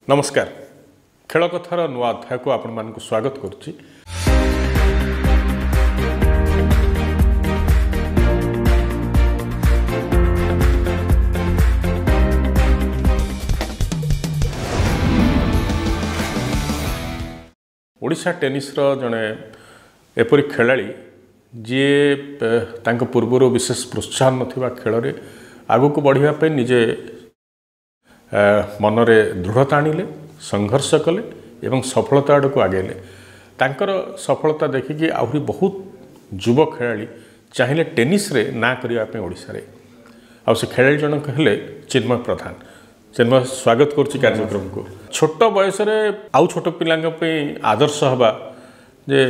ନମସ୍କାର, ଖେଳ କଥାର ନୂଆ ଅଧ୍ୟାୟକୁ ଆପଣମାନଙ୍କୁ ସ୍ୱାଗତ କରୁଛି। ଓଡ଼ିଶା ଟେନିସ୍ର ଜଣେ ଏପରି ଖେଳାଳି ଯିଏ ତାଙ୍କ ପୂର୍ବରୁ ବିଶେଷ ପ୍ରୋତ୍ସାହନ ନଥିବା ଖେଳରେ ଆଗକୁ ବଢ଼ିବା ପାଇଁ ନିଜେ ମନରେ ଦୃଢ଼ତା ଆଣିଲେ, ସଂଘର୍ଷ କଲେ ଏବଂ ସଫଳତା ଆଡ଼କୁ ଆଗେଇଲେ। ତାଙ୍କର ସଫଳତା ଦେଖିକି ଆହୁରି ବହୁତ ଯୁବ ଖେଳାଳି ଚାହିଁଲେ ଟେନିସ୍ରେ ନାଁ କରିବା ପାଇଁ ଓଡ଼ିଶାରେ। ଆଉ ସେ ଖେଳାଳି ଜଣକ ହେଲେ ଚିନ୍ମୟ ପ୍ରଧାନ। ଚିନ୍ମୟ, ସ୍ୱାଗତ କରୁଛି କାର୍ଯ୍ୟକ୍ରମକୁ। ଛୋଟ ବୟସରେ ଆଉ ଛୋଟ ପିଲାଙ୍କ ପାଇଁ ଆଦର୍ଶ ହେବା ଯେ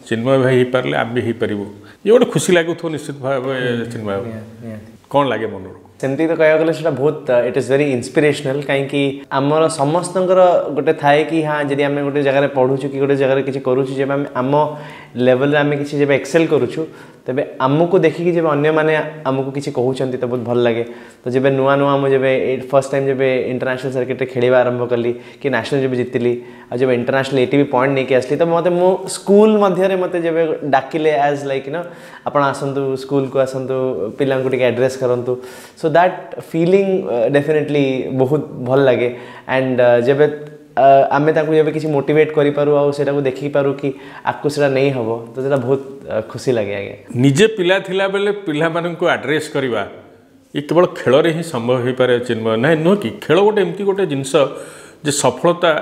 ଚିନ୍ମୟ ଭାଇ ହେଇପାରିଲେ ଆମେ ବି ହେଇପାରିବୁ, ଇଏ ଗୋଟେ ଖୁସି ଲାଗୁଥିବ ନିଶ୍ଚିତ ଭାବେ। ଚିନ୍ମୟ, କ'ଣ ଲାଗେ ମନରୁ? ସେମିତି ତ କହିବାକୁ ଗଲେ ସେଇଟା ବହୁତ, it is very ଇନ୍ସପିରେସନାଲ୍। କାହିଁକି ଆମର ସମସ୍ତଙ୍କର ଗୋଟେ ଥାଏ କି ହଁ, ଯଦି ଆମେ ଗୋଟେ ଜାଗାରେ ପଢ଼ୁଛୁ କି ଗୋଟେ ଜାଗାରେ କିଛି କରୁଛୁ, ଯେବେ ଆମେ ଆମ ଲେଭେଲରେ ଆମେ କିଛି ଯେବେ ଏକ୍ସେଲ୍ କରୁଛୁ, ତେବେ ଆମକୁ ଦେଖିକି ଯେବେ ଅନ୍ୟମାନେ ଆମକୁ କିଛି କହୁଛନ୍ତି ତ ବହୁତ ଭଲ ଲାଗେ। ତ ଯେବେ ନୂଆ ନୂଆ ମୁଁ ଯେବେ ଫର୍ଷ୍ଟ ଟାଇମ୍ ଯେବେ ଇଣ୍ଟରନ୍ୟାସନାଲ୍ ସର୍କିଟ୍ରେ ଖେଳିବା ଆରମ୍ଭ କଲି କି ନ୍ୟାସନାଲ୍ ଯେବେ ଜିତିଲି ଆଉ ଯେବେ ଇଣ୍ଟରନ୍ୟାସନାଲ୍ ଏଟିପି ପଏଣ୍ଟ ନେଇକି ଆସିଲି, ତ ମୋତେ ମୋ ସ୍କୁଲ ମଧ୍ୟରେ ମୋତେ ଯେବେ ଡାକିଲେ ଆଜ୍ ଲାଇକ୍ ନ ଆପଣ ଆସନ୍ତୁ, ସ୍କୁଲକୁ ଆସନ୍ତୁ, ପିଲାଙ୍କୁ ଟିକେ ଆଡ୍ରେସ୍ କରନ୍ତୁ, ସୋ that filling definitely ବହୁତ ଭଲ ଲାଗେ। ଆଣ୍ଡ ଯେବେ ଆମେ ତାଙ୍କୁ ଯେବେ କିଛି ମୋଟିଭେଟ୍ କରିପାରୁ ଆଉ ସେଇଟାକୁ ଦେଖିପାରୁ କି ଆଗକୁ ସେଇଟା ନେଇ ହେବ, ତ ସେଇଟା ବହୁତ ଖୁସି ଲାଗେ ଆଜ୍ଞା। ନିଜେ ପିଲା ଥିଲାବେଳେ ପିଲାମାନଙ୍କୁ ଆଡ୍ରେସ୍ କରିବା ଏ କେବଳ ଖେଳରେ ହିଁ ସମ୍ଭବ ହୋଇପାରେ ଚିନ୍ମୟ, ନାଇଁ ନୁହଁ କି? ଖେଳ ଗୋଟେ ଏମିତି ଗୋଟେ ଜିନିଷ ଯେ ସଫଳତା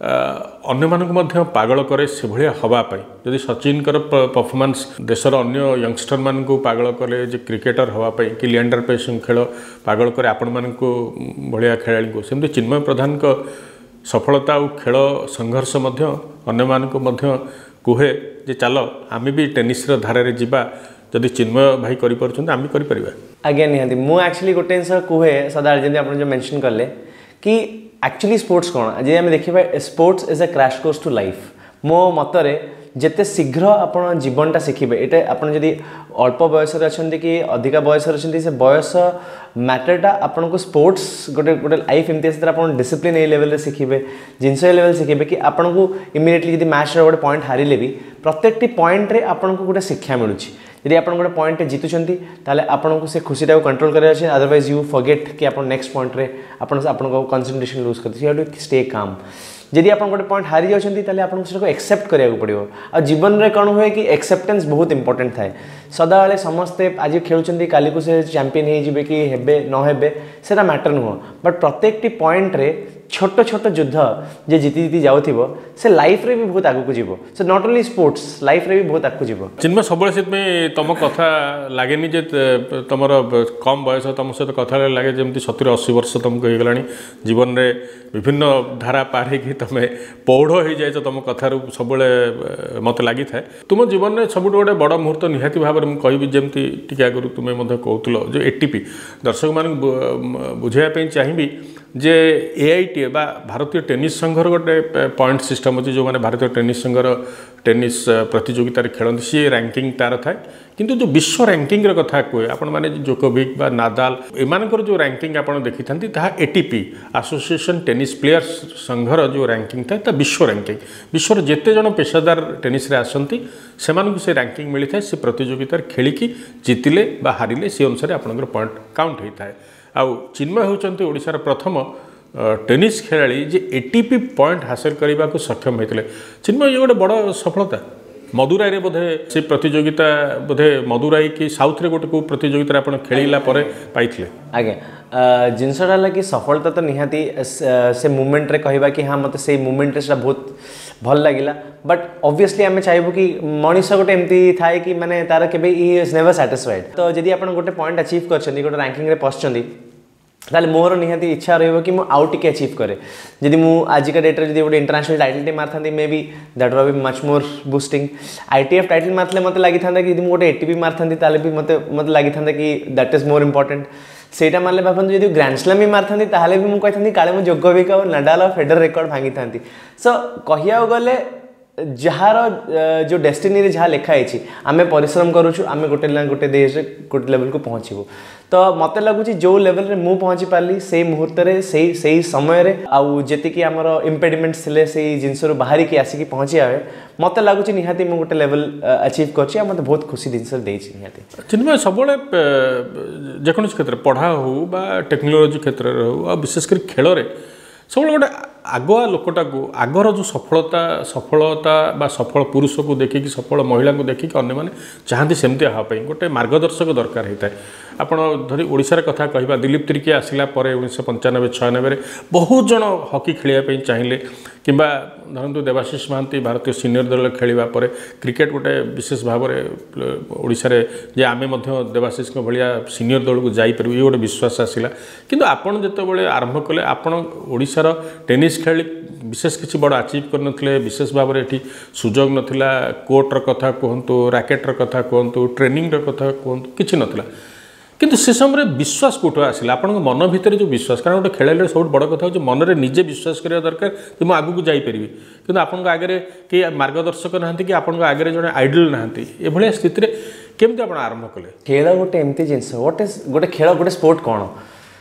ଅନ୍ୟମାନଙ୍କୁ ମଧ୍ୟ ପାଗଳ କରେ ସେଭଳିଆ ହେବା ପାଇଁ। ଯଦି ସଚିନଙ୍କର ପରଫର୍ମାନ୍ସ ଦେଶର ଅନ୍ୟ ୟଙ୍ଗଷ୍ଟରମାନଙ୍କୁ ପାଗଳ କଲେ ଯେ କ୍ରିକେଟର ହେବା ପାଇଁ, କି ଲିଆଣ୍ଡର ପେସ୍ଙ୍କ ଖେଳ ପାଗଳ କରେ ଆପଣମାନଙ୍କୁ ଭଳିଆ ଖେଳାଳିଙ୍କୁ, ସେମିତି ଚିନ୍ମୟ ପ୍ରଧାନଙ୍କ ସଫଳତା ଆଉ ଖେଳ ସଂଘର୍ଷ ମଧ୍ୟ ଅନ୍ୟମାନଙ୍କୁ ମଧ୍ୟ କୁହେ ଯେ ଚାଲ ଆମେ ବି ଟେନିସ୍ର ଧାରାରେ ଯିବା, ଯଦି ଚିନ୍ମୟ ଭାଇ କରିପାରୁଛନ୍ତି ଆମେ କରିପାରିବା। ଆଜ୍ଞା ନିହାତି। ମୁଁ ଆକ୍ଚୁଆଲି ଗୋଟେ ଜିନିଷ କୁହେ ସଦାବେଳେ, ଯେମିତି ଆପଣ ଯେଉଁ ମେନସନ୍ କଲେ କି ଆକ୍ଚୁଆଲି ସ୍ପୋର୍ଟସ୍ କ'ଣ, ଯଦି ଆମେ ଦେଖିବା sports is a crash course to life. ମୋ ମତରେ ଯେତେ ଶୀଘ୍ର ଆପଣ ଜୀବନଟା ଶିଖିବେ, ଏଇଟା ଆପଣ ଯଦି ଅଳ୍ପ ବୟସରେ ଅଛନ୍ତି କି ଅଧିକା ବୟସରେ ଅଛନ୍ତି, ସେ ବୟସ ମ୍ୟାଟରଟା ଆପଣଙ୍କୁ ସ୍ପୋର୍ଟସ୍ ଗୋଟେ ଗୋଟେ ଲାଇଫ୍ ଏମିତି ସେଥିରେ ଆପଣ ଡିସିପ୍ଲିନ୍ ଏଇ ଲେଭେଲରେ ଶିଖିବେ, ଜିନିଷ ଏ ଲେଭେଲ୍ ଶିଖିବେ କି ଆପଣଙ୍କୁ ଇମିଡ଼ିଏଟଲି ଯଦି ମ୍ୟାଚ୍ର ଗୋଟେ ପଏଣ୍ଟ ହାରିଲେ ବି ପ୍ରତ୍ୟେକଟି ପଏଣ୍ଟରେ ଆପଣଙ୍କୁ ଗୋଟେ ଶିକ୍ଷା ମିଳୁଛି। ଯଦି ଆପଣ ଗୋଟେ ପଏଣ୍ଟରେ ଜିତୁଛନ୍ତି ତାହେଲେ ଆପଣଙ୍କୁ ସେ ଖୁସିଟାକୁ କଣ୍ଟ୍ରୋଲ କରିବାର ଅଛି, ଅଦରୱାଇଜ୍ you forget କି ଆପଣ ନେକ୍ସଟ ପଏଣ୍ଟରେ ଆପଣ ଆପଣଙ୍କ କନସେନ୍ଟ୍ରେସନ୍ ଲୁଜ୍ କରିଦେବେ। You have to stay calm. ଯଦି ଆପଣ ଗୋଟେ ପଏଣ୍ଟ ହାରି ଯାଉଛନ୍ତି ତାହେଲେ ଆପଣଙ୍କୁ ସେଟାକୁ ଏକ୍ସେପ୍ଟ କରିବାକୁ ପଡ଼ିବ। ଆଉ ଜୀବନରେ କ'ଣ ହୁଏ କି ଏକ୍ସେପ୍ଟାନ୍ସ ବହୁତ ଇମ୍ପୋର୍ଟାଣ୍ଟ ଥାଏ। ସଦାବେଳେ ସମସ୍ତେ ଆଜି ଖେଳୁଛନ୍ତି, କାଲିକୁ ସେ ଚାମ୍ପିୟନ୍ ହେଇଯିବେ କି ହେବେ ନ ହେବେ ସେଟା ମ୍ୟାଟର ନୁହଁ, ବଟ୍ ପ୍ରତ୍ୟେକଟି ପଏଣ୍ଟରେ ଛୋଟ ଛୋଟ ଯୁଦ୍ଧ ଯେ ଜିତି ଜିତି ଯାଉଥିବ ସେ ଲାଇଫ୍ରେ ବି ବହୁତ ଆଗକୁ ଯିବ। ସେ not only sports, ଲାଇଫ୍ରେ ବି ବହୁତ ଆଗକୁ ଯିବ। ଚିନ୍ମୟ, ସବୁବେଳେ ସେଥିପାଇଁ ତମ କଥା ଲାଗେନି ଯେ ତମର କମ୍ ବୟସ, ତମ ସହିତ କଥା ହେଲେ ଲାଗେ ଯେମିତି 70-80 ବର୍ଷ ତମକୁ ହେଇଗଲାଣି। ଜୀବନରେ ବିଭିନ୍ନ ଧାରା ପାର ହେଇକି ତମେ ପୌଢ଼ ହେଇଯାଇଛ, ତମ କଥାରୁ ସବୁବେଳେ ମୋତେ ଲାଗିଥାଏ। ତୁମ ଜୀବନରେ ସବୁଠୁ ଗୋଟେ ବଡ଼ ମୁହୂର୍ତ୍ତ ନିହାତି ଭାବରେ ମୁଁ କହିବି, ଯେମିତି ଟିକେ ଆଗରୁ ତୁମେ ମଧ୍ୟ କହୁଥିଲ ଯେ ଏଟିପି, ଦର୍ଶକମାନଙ୍କୁ ବୁଝାଇବା ପାଇଁ ଚାହିଁବି ଯେ ଏଆଇଟିଏ ବା ଭାରତୀୟ ଟେନିସ୍ ସଂଘର ଗୋଟେ ପଏଣ୍ଟ ସିଷ୍ଟମ୍ ଅଛି। ଯେଉଁମାନେ ଭାରତୀୟ ଟେନିସ୍ ସଂଘର ଟେନିସ୍ ପ୍ରତିଯୋଗିତାରେ ଖେଳନ୍ତି ସିଏ ରାଙ୍କିଙ୍ଗ ତାର ଥାଏ। କିନ୍ତୁ ଯେଉଁ ବିଶ୍ୱ ରାଙ୍କିଙ୍ଗର କଥା କୁହେ, ଆପଣମାନେ ଜୋକୋଭିକ୍ ବା ନାଦାଲ ଏମାନଙ୍କର ଯେଉଁ ରାଙ୍କିଙ୍ଗ ଆପଣ ଦେଖିଥାନ୍ତି ତାହା ଏଟିପି ଆସୋସିଏସନ୍ ଟେନିସ୍ ପ୍ଲେୟର୍ସ ସଂଘର ଯେଉଁ ରାଙ୍କିଙ୍ଗ ଥାଏ ତା ବିଶ୍ୱ ରାଙ୍କିଙ୍ଗ। ବିଶ୍ୱର ଯେତେ ଜଣ ପେଶାଦାର ଟେନିସ୍ରେ ଆସନ୍ତି ସେମାନଙ୍କୁ ସେ ରାଙ୍କିଙ୍ଗ ମିଳିଥାଏ। ସେ ପ୍ରତିଯୋଗିତାରେ ଖେଳିକି ଜିତିଲେ ବା ହାରିଲେ ସେ ଅନୁସାରେ ଆପଣଙ୍କର ପଏଣ୍ଟ କାଉଣ୍ଟ ହୋଇଥାଏ। ଆଉ ଚିନ୍ମୟ ହେଉଛନ୍ତି ଓଡ଼ିଶାର ପ୍ରଥମ ଟେନିସ୍ ଖେଳାଳି ଯେ ଏଟିପି ପଏଣ୍ଟ ହାସଲ କରିବାକୁ ସକ୍ଷମ ହୋଇଥିଲେ। ଚିନ୍ମୟ, ଇଏ ଗୋଟେ ବଡ଼ ସଫଳତା। ମଦୁରାଇରେ ବୋଧେ ସେ ପ୍ରତିଯୋଗିତା, ବୋଧେ ମଦୁରାଇ କି ସାଉଥରେ ଗୋଟେ କେଉଁ ପ୍ରତିଯୋଗିତାରେ ଆପଣ ଖେଳିଲା ପରେ ପାଇଥିଲେ? ଆଜ୍ଞା, ଜିନିଷଟା ହେଲା କି ସଫଳତା ତ ନିହାତି ସେ ମୁମେଣ୍ଟରେ କହିବା କି ହଁ ମୋତେ ସେଇ ମୁମେଣ୍ଟରେ ସେଇଟା ବହୁତ ଭଲ ଲାଗିଲା, ବଟ୍ ଅବଭିୟସଲି ଆମେ ଚାହିଁବୁ କି ମଣିଷ ଗୋଟେ ଏମିତି ଥାଏ କି ମାନେ ତାର କେବେ ଇ is never satisfied. ତ ଯଦି ଆପଣ ଗୋଟେ ପଏଣ୍ଟ ଆଚିଭ୍ କରିଛନ୍ତି, ଗୋଟେ ରାଙ୍କିଙ୍ଗରେ ପଶିଛନ୍ତି, ତାହେଲେ ମୋର ନିହାତି ଇଚ୍ଛା ରହିବ କି ମୁଁ ଆଉ ଟିକେ ଆଚିଭ୍ କରେ। ଯଦି ମୁଁ ଆଜିକା ଡେଟ୍ରେ ଯଦି ଗୋଟେ international ଟାଇଟଲ୍ଟେ ମାରିଥାନ୍ତି, maybe that will be much more boosting. ITF title ମାରିଥିଲେ ମୋତେ ଲାଗିଥାନ୍ତା କି ଯଦି ମୁଁ ଗୋଟେ ଏଟିପି ମାରିଥାନ୍ତି ତାହେଲେ ବି ମୋତେ ଲାଗିଥାନ୍ତା କି that is more important. ସେଇଟା ମାରିଲେ ଭାବନ୍ତୁ ଯଦି ଗ୍ରାଣ୍ଡ ସ୍ଲାମ୍ ବି ମାରିଥାନ୍ତି ତାହେଲେ ବି ମୁଁ କହିଥାନ୍ତି କାଳେ ମୁଁ ଜୋକୋଭିକ୍ ଆଉ ନାଡାଲ ଆଉ ଫେଡର ରେକର୍ଡ଼ ଭାଙ୍ଗିଥାନ୍ତି। ସୋ କହିବାକୁ ଗଲେ ଯାହାର ଯେଉଁ ଡେଷ୍ଟିନିରେ ଯାହା ଲେଖା ହେଇଛି, ଆମେ ପରିଶ୍ରମ କରୁଛୁ, ଆମେ ଗୋଟେ ନା ଗୋଟେ ଦେଶରେ ଗୋଟେ ଲେଭେଲକୁ ପହଞ୍ଚିବୁ। ତ ମୋତେ ଲାଗୁଛି ଯେଉଁ ଲେଭେଲରେ ମୁଁ ପହଞ୍ଚି ପାରିଲି ସେଇ ମୁହୂର୍ତ୍ତରେ, ସେଇ ସମୟରେ, ଆଉ ଯେତିକି ଆମର ଇମ୍ପେଡିମେଣ୍ଟସ୍ ଥିଲେ ସେଇ ଜିନିଷରୁ ବାହାରିକି ଆସିକି ପହଞ୍ଚିବା, ମୋତେ ଲାଗୁଛି ନିହାତି ମୁଁ ଗୋଟେ ଲେଭେଲ ଆଚିଭ୍ କରିଛି ଆଉ ମୋତେ ବହୁତ ଖୁସି ଜିନିଷ ଦେଇଛି ନିହାତି। ଚିନ୍ମୟ, ସବୁବେଳେ ଯେକୌଣସି କ୍ଷେତ୍ରରେ, ପଢ଼ା ହଉ ବା ଟେକ୍ନୋଲୋଜି କ୍ଷେତ୍ରରେ ହଉ, ଆଉ ବିଶେଷ କରି ଖେଳରେ, ସବୁବେଳେ ଗୋଟେ ଆଗୁଆ ଲୋକଟାକୁ, ଆଗର ଯେଉଁ ସଫଳତା ବା ସଫଳ ପୁରୁଷକୁ ଦେଖିକି, ସଫଳ ମହିଳାଙ୍କୁ ଦେଖିକି ଅନ୍ୟମାନେ ଚାହାନ୍ତି ସେମିତି ହେବା ପାଇଁ, ଗୋଟେ ମାର୍ଗଦର୍ଶକ ଦରକାର ହେଇଥାଏ। ଆପଣ ଧରି ଓଡ଼ିଶାର କଥା କହିବା, ଦିଲ୍ଲୀପ ତିର୍କୀ ଆସିଲା ପରେ 1995-96ରେ ବହୁତ ଜଣ ହକି ଖେଳିବା ପାଇଁ ଚାହିଁଲେ, କିମ୍ବା ଧରନ୍ତୁ ଦେବାଶିଷ ମହାନ୍ତି ଭାରତୀୟ ସିନିୟର ଦଳରେ ଖେଳିବା ପରେ କ୍ରିକେଟ ଗୋଟେ ବିଶେଷ ଭାବରେ ଓଡ଼ିଶାରେ ଯେ ଆମେ ମଧ୍ୟ ଦେବାଶିଷଙ୍କ ଭଳିଆ ସିନିୟର ଦଳକୁ ଯାଇପାରିବୁ, ଇଏ ଗୋଟେ ବିଶ୍ୱାସ ଆସିଲା। କିନ୍ତୁ ଆପଣ ଯେତେବେଳେ ଆରମ୍ଭ କଲେ, ଆପଣ ଓଡ଼ିଶାର ଟେନିସ୍ ଖେଳି ବିଶେଷ କିଛି ବଡ଼ ଆଚିଭ୍ କରିନଥିଲେ, ବିଶେଷ ଭାବରେ ଏଠି ସୁଯୋଗ ନଥିଲା, କୋର୍ଟର କଥା କୁହନ୍ତୁ, ରାକେଟ୍ର କଥା କୁହନ୍ତୁ, ଟ୍ରେନିଂର କଥା କୁହନ୍ତୁ, କିଛି ନଥିଲା। କିନ୍ତୁ ସେ ସମୟରେ ବିଶ୍ୱାସ କେଉଁଠୁ ଆସିଲା ଆପଣଙ୍କ ମନ ଭିତରେ ଯେଉଁ ବିଶ୍ୱାସ? କାରଣ ଗୋଟେ ଖେଳାଳିର ସବୁଠୁ ବଡ଼ କଥା ହେଉଛି ମନରେ ନିଜେ ବିଶ୍ୱାସ କରିବା ଦରକାର ଯେ ମୁଁ ଆଗକୁ ଯାଇପାରିବି। କିନ୍ତୁ ଆପଣଙ୍କ ଆଗରେ କେହି ମାର୍ଗଦର୍ଶକ ନାହାନ୍ତି କି ଆପଣଙ୍କ ଆଗରେ ଜଣେ ଆଇଡଲ୍ ନାହାନ୍ତି। ଏଭଳିଆ ସ୍ଥିତିରେ କେମିତି ଆପଣ ଆରମ୍ଭ କଲେ? ଖେଳ ଗୋଟେ ଏମିତି ଜିନିଷ, what is ଗୋଟେ ଖେଳ, ଗୋଟେ ସ୍ପୋର୍ଟ କ'ଣ?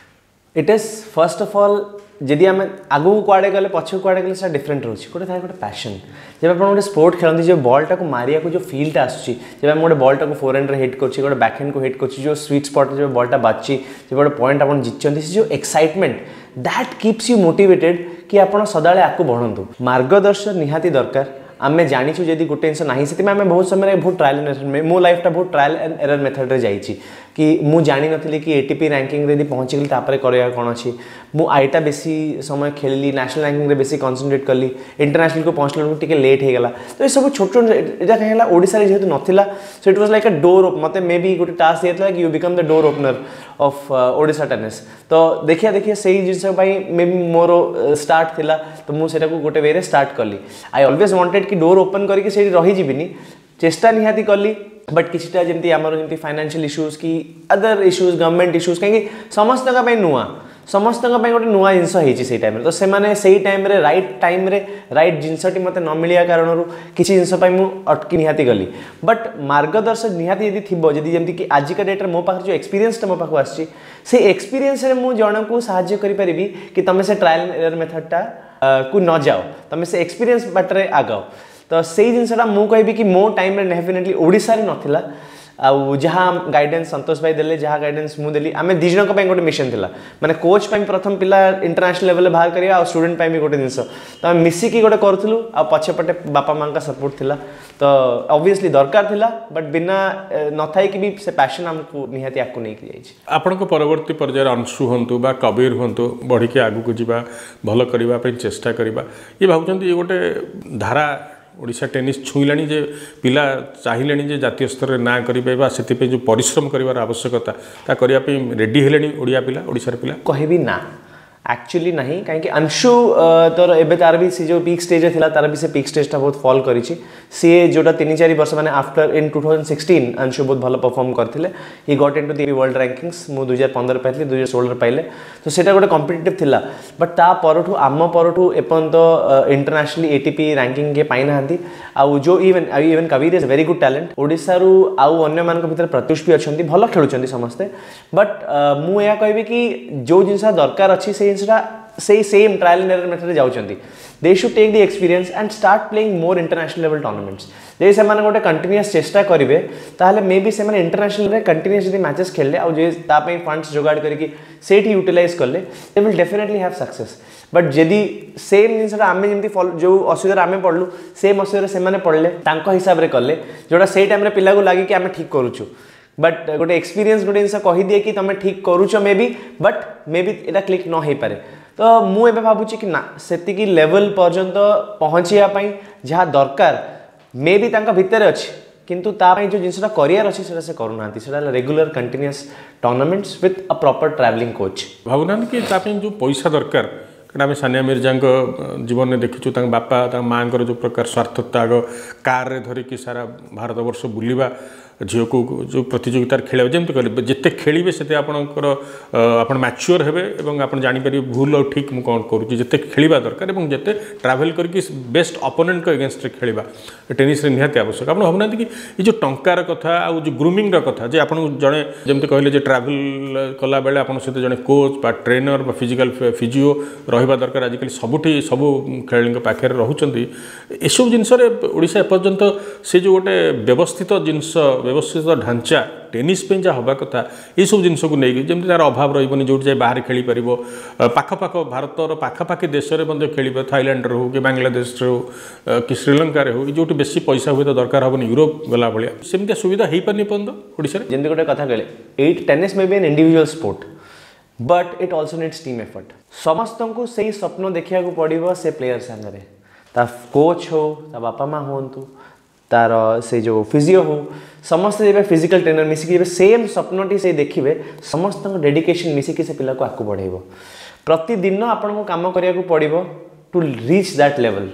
It is first of all, ଯଦି ଆମେ ଆଗକୁ କୁଆଡ଼େ ଗଲେ, ପଛକୁ କୁଆଡ଼େ ଗଲେ, ସେଟା ଡିଫରେଣ୍ଟ ରହୁଛି। ଗୋଟେ ଥାଏ ଗୋଟେ ପ୍ୟାସନ୍। ଯେବେ ଆପଣ ଗୋଟେ ସ୍ପୋର୍ଟ ଖେଳନ୍ତି, ଯେଉଁ ବଲ୍ଟାକୁ ମାରିବାକୁ ଯେଉଁ ଫିଲ୍ଟା ଆସୁଛି, ଯେବେ ଆମେ ଗୋଟେ ବଲ୍ଟାକୁ ଫୋର୍ ହ୍ୟାଣ୍ଡରେ ହିଟ୍ କରୁଛି, ଗୋଟେ ବ୍ୟାକ୍ ହ୍ୟାଣ୍ଡକୁ ହିଟ୍ କରୁଛି, ଯେଉଁ ସୁଇଟ୍ ସ୍ପଟ୍ରେ ଯେବେ ବଲ୍ଟା ବାଜୁଛି, ଯେବେ ଗୋଟେ ପଏଣ୍ଟ ଆପଣ ଜିତିଛନ୍ତି, ସେ ଯେଉଁ excitement, that keeps you motivated କି ଆପଣ ସଦାବେଳେ ଆଗକୁ ବଢ଼ନ୍ତୁ। ମାର୍ଗଦର୍ଶନ ନିହାତି ଦରକାର। ଆମେ ଜାଣିଛୁ ଯଦି ଗୋଟେ ଜିନିଷ ନାହିଁ, ସେଥିପାଇଁ ଆମେ ବହୁତ ସମୟରେ ବହୁତ ଟ୍ରାଏଲ୍ ଆଣ୍ଡ ଏରର୍, ମୋ ଲାଇଫଟା ବହୁତ ଟ୍ରାଏଲ୍ ଆଣ୍ଡ ଏରର୍ ମେଥଡ଼ରେ ଯାଇଛି କି ମୁଁ ଜାଣିନଥିଲି କି ATP ରାଙ୍କିଙ୍ଗରେ ଯଦି ପହଞ୍ଚିଗଲି ତାପରେ କରିବା କ'ଣ ଅଛି। ମୁଁ ଆଇଟା ବେଶୀ ସମୟ ଖେଳିଲି, ନ୍ୟାସନାଲ୍ ରାଙ୍କିଙ୍ଗରେ ବେଶୀ କନସେନ୍ଟ୍ରେଟ୍ କଲି, ଇଣ୍ଟରନ୍ୟାସନାଲକୁ ପହଞ୍ଚିଲା ବେଳକୁ ଟିକେ ଲେଟ୍ ହେଇଗଲା। ତ ଏସବୁ ଛୋଟ ଛୋଟ, ଏଇଟା କାହିଁ ହେଲା, ଓଡ଼ିଶାରେ ଯେହେତୁ ନଥିଲା, so it was like a door, ମୋତେ ମେ ବି ଗୋଟେ ଟାସ୍କ ଦିଆଯାଇଥିଲା କି you become the door opener of Odisha tennis। ତ ଦେଖିବା ଦେଖିବା ସେଇ ଜିନିଷ ପାଇଁ ମେ ବି ମୋର ଷ୍ଟାର୍ଟ ଥିଲା, ତ ମୁଁ ସେଇଟାକୁ ଗୋଟେ ୱେରେ ଷ୍ଟାର୍ଟ କଲି। I always wanted କି ଡୋର୍ ଓପନ୍ କରିକି ସେଇଠି ରହିଯିବିନି, ଚେଷ୍ଟା ନିହାତି କଲି। ବଟ୍ କିଛିଟା ଯେମିତି ଆମର ଯେମିତି ଫାଇନାନ୍ସିଆଲ୍ ଇସ୍ୟୁଜ୍ କି ଅଦର ଇସ୍ୟୁଜ୍, ଗଭର୍ଣ୍ଣମେଣ୍ଟ ଇସ୍ୟୁଜ୍, କାହିଁକି ସମସ୍ତଙ୍କ ପାଇଁ ନୂଆ, ସମସ୍ତଙ୍କ ପାଇଁ ଗୋଟେ ନୂଆ ଜିନିଷ ହେଇଛି ସେଇ ଟାଇମ୍ରେ। ତ ସେମାନେ ସେଇ ଟାଇମ୍ରେ ରାଇଟ୍ ଟାଇମ୍ରେ ରାଇଟ୍ ଜିନିଷଟି ମୋତେ ନ ମିଳିବା କାରଣରୁ କିଛି ଜିନିଷ ପାଇଁ ମୁଁ ଅଟକି ନିହାତି ଗଲି। ବଟ୍ ମାର୍ଗଦର୍ଶକ ନିହାତି ଯଦି ଥିବ, ଯଦି ଯେମିତିକି ଆଜିକା ଡେଟ୍ରେ ମୋ ପାଖରେ ଯେଉଁ ଏକ୍ସପିରିଏନ୍ସଟା ମୋ ପାଖକୁ ଆସିଛି, ସେଇ ଏକ୍ସପିରିଏନ୍ସରେ ମୁଁ ଜଣକୁ ସାହାଯ୍ୟ କରିପାରିବି କି ତୁମେ ସେ ଟ୍ରାଏଲ୍ ଏରର୍ ମେଥଡ଼ଟା କୁ ନ ଯାଅ, ତୁମେ ସେ ଏକ୍ସପିରିଏନ୍ସ ବାଟରେ ଆଗାଅ। ତ ସେଇ ଜିନିଷଟା ମୁଁ କହିବି କି ମୋ ଟାଇମ୍ରେ ଡେଫିନେଟଲି ଓଡ଼ିଶାରେ ନଥିଲା। ଆଉ ଯାହା ଗାଇଡେନ୍ସ ସନ୍ତୋଷ ଭାଇ ଦେଲେ, ଯାହା ଗାଇଡେନ୍ସ ମୁଁ ଦେଲି, ଆମେ ଦୁଇ ଜଣଙ୍କ ପାଇଁ ଗୋଟେ ମିଶନ ଥିଲା, ମାନେ କୋଚ୍ ପାଇଁ ପ୍ରଥମ ପିଲା ଇଣ୍ଟରନ୍ୟାସନାଲ ଲେଭେଲରେ ବାହାର କରିବା ଆଉ ଷ୍ଟୁଡେଣ୍ଟ ପାଇଁ ବି ଗୋଟେ ଜିନିଷ, ତ ଆମେ ମିଶିକି ଗୋଟେ କରୁଥିଲୁ। ଆଉ ପଛପଟେ ବାପା ମାଆଙ୍କ ସପୋର୍ଟ ଥିଲା, ତ ଅବଭିୟସଲି ଦରକାର ଥିଲା, ବଟ୍ ବିନା ନଥାଇକି ବି ସେ ପ୍ୟାସନ୍ ଆମକୁ ନିହାତି ଆଗକୁ ନେଇକି ଯାଇଛି। ଆପଣଙ୍କ ପରବର୍ତ୍ତୀ ପର୍ଯ୍ୟାୟରେ ଅଂଶୁ ହୁଅନ୍ତୁ ବା କବୀର ହୁଅନ୍ତୁ, ବଢ଼ିକି ଆଗକୁ ଯିବା, ଭଲ କରିବା ପାଇଁ ଚେଷ୍ଟା କରିବା, ଇଏ ଭାବୁଛନ୍ତି ଇଏ ଗୋଟେ ଧାରା ଓଡ଼ିଶା ଟେନିସ୍ ଛୁଇଁଲାଣି ଯେ ପିଲା ଚାହିଁଲେଣି ଯେ ଜାତୀୟ ସ୍ତରରେ ନାଁ କରିବେ, ବା ସେଥିପାଇଁ ଯେଉଁ ପରିଶ୍ରମ କରିବାର ଆବଶ୍ୟକତା ତା କରିବା ପାଇଁ ରେଡ଼ି ହେଲେଣି ଓଡ଼ିଆ ପିଲା, ଓଡ଼ିଶାର ପିଲା? କହିବି ନା, ଆକ୍ଚୁଆଲି ନାହିଁ। କାହିଁକି ଅଂଶୁ ତୋର ଏବେ ତାର ବି ସେ ଯେଉଁ ପିକ୍ ଷ୍ଟେଜ୍ରେ ଥିଲା, ତାର ବି ସେ ପିକ୍ ଷ୍ଟେଜ୍ଟା ବହୁତ ଫଲ୍ କରିଛି। ସିଏ ଯେଉଁଟା 3-4 ବର୍ଷ, ମାନେ ଆଫ୍ଟର ଇନ୍ 2016 ଅଂଶୁ ବହୁତ ଭଲ ପରଫର୍ମ କରିଥିଲେ, he got into the world rankings। ମୁଁ 2015 ପାଇଥିଲି, 2016ରେ ପାଇଲେ, ତ ସେଇଟା ଗୋଟେ କମ୍ପିଟେଟିଭ୍ ଥିଲା। ବଟ୍ ତା ପରଠୁ, ଆମ ପରଠୁ ଏପର୍ଯ୍ୟନ୍ତ ଇଣ୍ଟରନ୍ୟାସନାଲି ATP ranking କିଏ ପାଇନାହାନ୍ତି। ଆଉ ଯେଉଁ even Kabir is very good talent। ଓଡ଼ିଶାରୁ ଆଉ ଅନ୍ୟମାନଙ୍କ ଭିତରେ ପ୍ରତ୍ୟୁଷ ବି ଅଛନ୍ତି, ଭଲ ଖେଳୁଛନ୍ତି ସମସ୍ତେ। ବଟ୍ ମୁଁ ଏହା କହିବି କି ଯେଉଁ ଜିନିଷ ଦରକାର ଅଛି, ସେଇ ଜିନିଷଟା ସେଇ ସେମ୍ ଟ୍ରାଏଲ୍ ଆଣ୍ଡ ଏରର୍ ମେଥଡ଼ରେ ଯାଉଛନ୍ତି। They should take the experience and start playing more international level tournaments। ଯଦି ସେମାନେ ଗୋଟେ କଣ୍ଟିନ୍ୟୁଅସ୍ ଚେଷ୍ଟା କରିବେ, ତାହେଲେ ମେ ବି ସେମାନେ ଇଣ୍ଟରନ୍ୟାସନାଲରେ କଣ୍ଟିନ୍ୟୁଅସ୍ ଯଦି ମ୍ୟାଚେସ୍ ଖେଳିଲେ ଆଉ ଯେ ତା ପାଇଁ ଫଣ୍ଡସ୍ ଯୋଗାଡ଼ କରିକି ସେଇଠି ୟୁଟିଲାଇଜ୍ କଲେ, they will definitely have success। But ଯଦି ସେମ୍ ଜିନିଷଟା ଆମେ ଯେମିତି ଫଲୋ, ଯେଉଁ ଅସୁବିଧାରେ ଆମେ ପଡ଼ିଲୁ ସେମ୍ ଅସୁବିଧାରେ ସେମାନେ ପଡ଼ିଲେ, ତାଙ୍କ ହିସାବରେ କଲେ, ଯେଉଁଟା ସେଇ ଟାଇମ୍ରେ ପିଲାକୁ ଲାଗେ କି ଆମେ ଠିକ୍ କରୁଛୁ, ବଟ୍ ଗୋଟେ ଏକ୍ସପିରିଏନ୍ସ ଗୋଟେ ଜିନିଷ କହିଦିଏ କି ତୁମେ ଠିକ୍ କରୁଛ ମେ ବି, ବଟ୍ ମେ ବି ଏଇଟା କ୍ଲିକ୍ ନ ହେଇପାରେ। ତ ମୁଁ ଏବେ ଭାବୁଛି କି ନା, ସେତିକି ଲେଭେଲ୍ ପର୍ଯ୍ୟନ୍ତ ପହଞ୍ଚିବା ପାଇଁ ଯାହା ଦରକାର ମେ ବି ତାଙ୍କ ଭିତରେ ଅଛି, କିନ୍ତୁ ତା ପାଇଁ ଯେଉଁ ଜିନିଷଟା କରିବାର ଅଛି ସେଇଟା ସେ କରୁନାହାନ୍ତି। ସେଇଟା ହେଲା regular continuous tournaments with a proper travelling coach। ଭାବୁନାହାନ୍ତି କି ତା ପାଇଁ ଯେଉଁ ପଇସା ଦରକାର? କାରଣ ଆମେ ସାନିଆ ମିର୍ଜାଙ୍କ ଜୀବନରେ ଦେଖିଛୁ, ତାଙ୍କ ବାପା, ତାଙ୍କ ମାଆଙ୍କର ଯେଉଁ ପ୍ରକାର ସ୍ୱାର୍ଥ ତ୍ୟାଗ, କାରରେ ଧରିକି ସାରା ଭାରତବର୍ଷ ବୁଲିବା, ଝିଅକୁ ଯେଉଁ ପ୍ରତିଯୋଗିତାରେ ଖେଳିବା, ଯେମିତି କହିଲେ ଯେତେ ଖେଳିବେ ସେତେ ଆପଣଙ୍କର ଆପଣ ମ୍ୟାଚ୍ୟୁଅର୍ ହେବେ ଏବଂ ଆପଣ ଜାଣିପାରିବେ ଭୁଲ ଆଉ ଠିକ୍ ମୁଁ କ'ଣ କରୁଛି। ଯେତେ ଖେଳିବା ଦରକାର ଏବଂ ଯେତେ ଟ୍ରାଭେଲ୍ କରିକି ବେଷ୍ଟ ଅପୋନେଣ୍ଟଙ୍କ ଏଗେନଷ୍ଟରେ ଖେଳିବା ଟେନିସ୍ରେ ନିହାତି ଆବଶ୍ୟକ। ଆପଣ ଭାବୁନାହାନ୍ତି କି ଏ ଯେଉଁ ଟଙ୍କାର କଥା ଆଉ ଯେଉଁ ଗ୍ରୁମିଂର କଥା, ଯେ ଆପଣଙ୍କୁ ଜଣେ ଯେମିତି କହିଲେ ଯେ ଟ୍ରାଭେଲ୍ କଲାବେଳେ ଆପଣଙ୍କ ସହିତ ଜଣେ କୋଚ୍ ବା ଟ୍ରେନର ବା ଫିଜିକାଲ୍ ଫିଜିଓ ରହିବା ଦରକାର, ଆଜିକାଲି ସବୁଠି ସବୁ ଖେଳାଳିଙ୍କ ପାଖରେ ରହୁଛନ୍ତି। ଏସବୁ ଜିନିଷରେ ଓଡ଼ିଶା ଏପର୍ଯ୍ୟନ୍ତ ସେ ଯେଉଁ ଗୋଟେ ବ୍ୟବସ୍ଥିତ ଜିନିଷ, ବ୍ୟବସ୍ଥିତ ଢାଞ୍ଚା ଟେନିସ୍ ପାଇଁ ଯାହା ହେବା କଥା, ଏସବୁ ଜିନିଷକୁ ନେଇକି ଯେମିତି ତା'ର ଅଭାବ ରହିବନି, ଯେଉଁଠି ଯାଇ ବାହାରେ ଖେଳିପାରିବ, ପାଖପାଖ ଭାରତର ପାଖାପାଖି ଦେଶରେ ମଧ୍ୟ ଖେଳିବ, ଥାଇଲାଣ୍ଡରେ ହେଉ କି ବାଂଲାଦେଶରେ ହେଉ କି ଶ୍ରୀଲଙ୍କାରେ ହେଉ, ଯେଉଁଠି ବେଶୀ ପଇସା ହୁଏତ ଦରକାର ହେବନି ୟୁରୋପ ଗଲା ଭଳିଆ, ସେମିତିଆ ସୁବିଧା ହେଇପାରୁନି ଏପର୍ଯ୍ୟନ୍ତ ଓଡ଼ିଶାରେ। ଯେମିତି ଗୋଟେ କଥା କହିଲେ, eight tennis may be an individual sport, but it also needs team effort. ସମସ୍ତଙ୍କୁ ସେଇ ସ୍ୱପ୍ନ ଦେଖିବାକୁ ପଡ଼ିବ ସେ ପ୍ଲେୟର ସାଙ୍ଗରେ, ତା କୋଚ୍ ହଉ, ତା ବାପା ମା ହୁଅନ୍ତୁ, ତାର ସେ ଯେଉଁ ଫିଜିଓ ହଉ, ସମସ୍ତେ ଯେବେ ଫିଜିକାଲ ଟ୍ରେନର ମିଶିକି ଯେବେ ସେମ୍ ସ୍ୱପ୍ନଟି ସେ ଦେଖିବେ, ସମସ୍ତଙ୍କ ଡେଡିକେସନ୍ ମିଶିକି ସେ ପିଲାକୁ ଆଗକୁ ବଢ଼େଇବ। ପ୍ରତିଦିନ ଆପଣଙ୍କୁ କାମ କରିବାକୁ ପଡ଼ିବ ଟୁ ରିଚ୍ that level.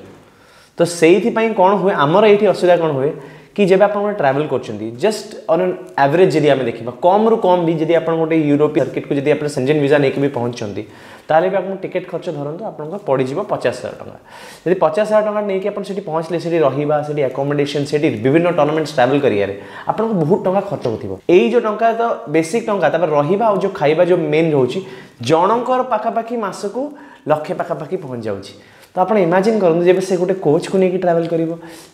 ତ ସେଇଥିପାଇଁ କ'ଣ ହୁଏ ଆମର ଏଇଠି ଅସୁବିଧା କ'ଣ ହୁଏ କି ଯେବେ ଆପଣ ଗୋଟେ ଟ୍ରାଭେଲ୍ କରୁଛନ୍ତି, ଜଷ୍ଟ ଅନ୍ ଆନ୍ ଆଭରେଜ୍ ଯଦି ଆମେ ଦେଖିବା, କମ୍ରୁ କମ୍ ବି ଯଦି ଆପଣ ଗୋଟେ ୟୁରୋପୀୟ ସର୍କିଟ୍କୁ ଯଦି ଆପଣ ସେଞ୍ଜେନ୍ ଭିଜା ନେଇକି ବି ପହଞ୍ଚୁଛନ୍ତି, ତାହେଲେ ବି ଆପଣଙ୍କୁ ଟିକେଟ୍ ଖର୍ଚ୍ଚ ଧରନ୍ତୁ ଆପଣଙ୍କ ପଡ଼ିଯିବ 50,000 ଟଙ୍କା। ଯଦି 50,000 ଟଙ୍କା ନେଇକି ଆପଣ ସେଠି ପହଞ୍ଚିଲେ, ସେଠି ରହିବା, ସେଠି ଆକୋମୋଡେସନ୍, ସେଠି ବିଭିନ୍ନ ଟୁର୍ଣ୍ଣାମେଣ୍ଟସ୍ ଟ୍ରାଭେଲ୍ କରିବାରେ ଆପଣଙ୍କୁ ବହୁତ ଟଙ୍କା ଖର୍ଚ୍ଚ ହେଉଥିବ। ଏଇ ଯେଉଁ ଟଙ୍କା ତ ବେସିକ୍ ଟଙ୍କା, ତାପରେ ରହିବା ଆଉ ଯେଉଁ ଖାଇବା ଯେଉଁ ମେନ୍ ରହୁଛି, ଜଣଙ୍କର ପାଖାପାଖି ମାସକୁ ଲକ୍ଷେ ପାଖାପାଖି ପହଞ୍ଚି ଯାଉଛି। ତ ଆପଣ ଇମାଜିନ୍ କରନ୍ତୁ ଯେବେ ସେ ଗୋଟେ କୋଚ୍କୁ ନେଇକି ଟ୍ରାଭେଲ୍ କରିବ,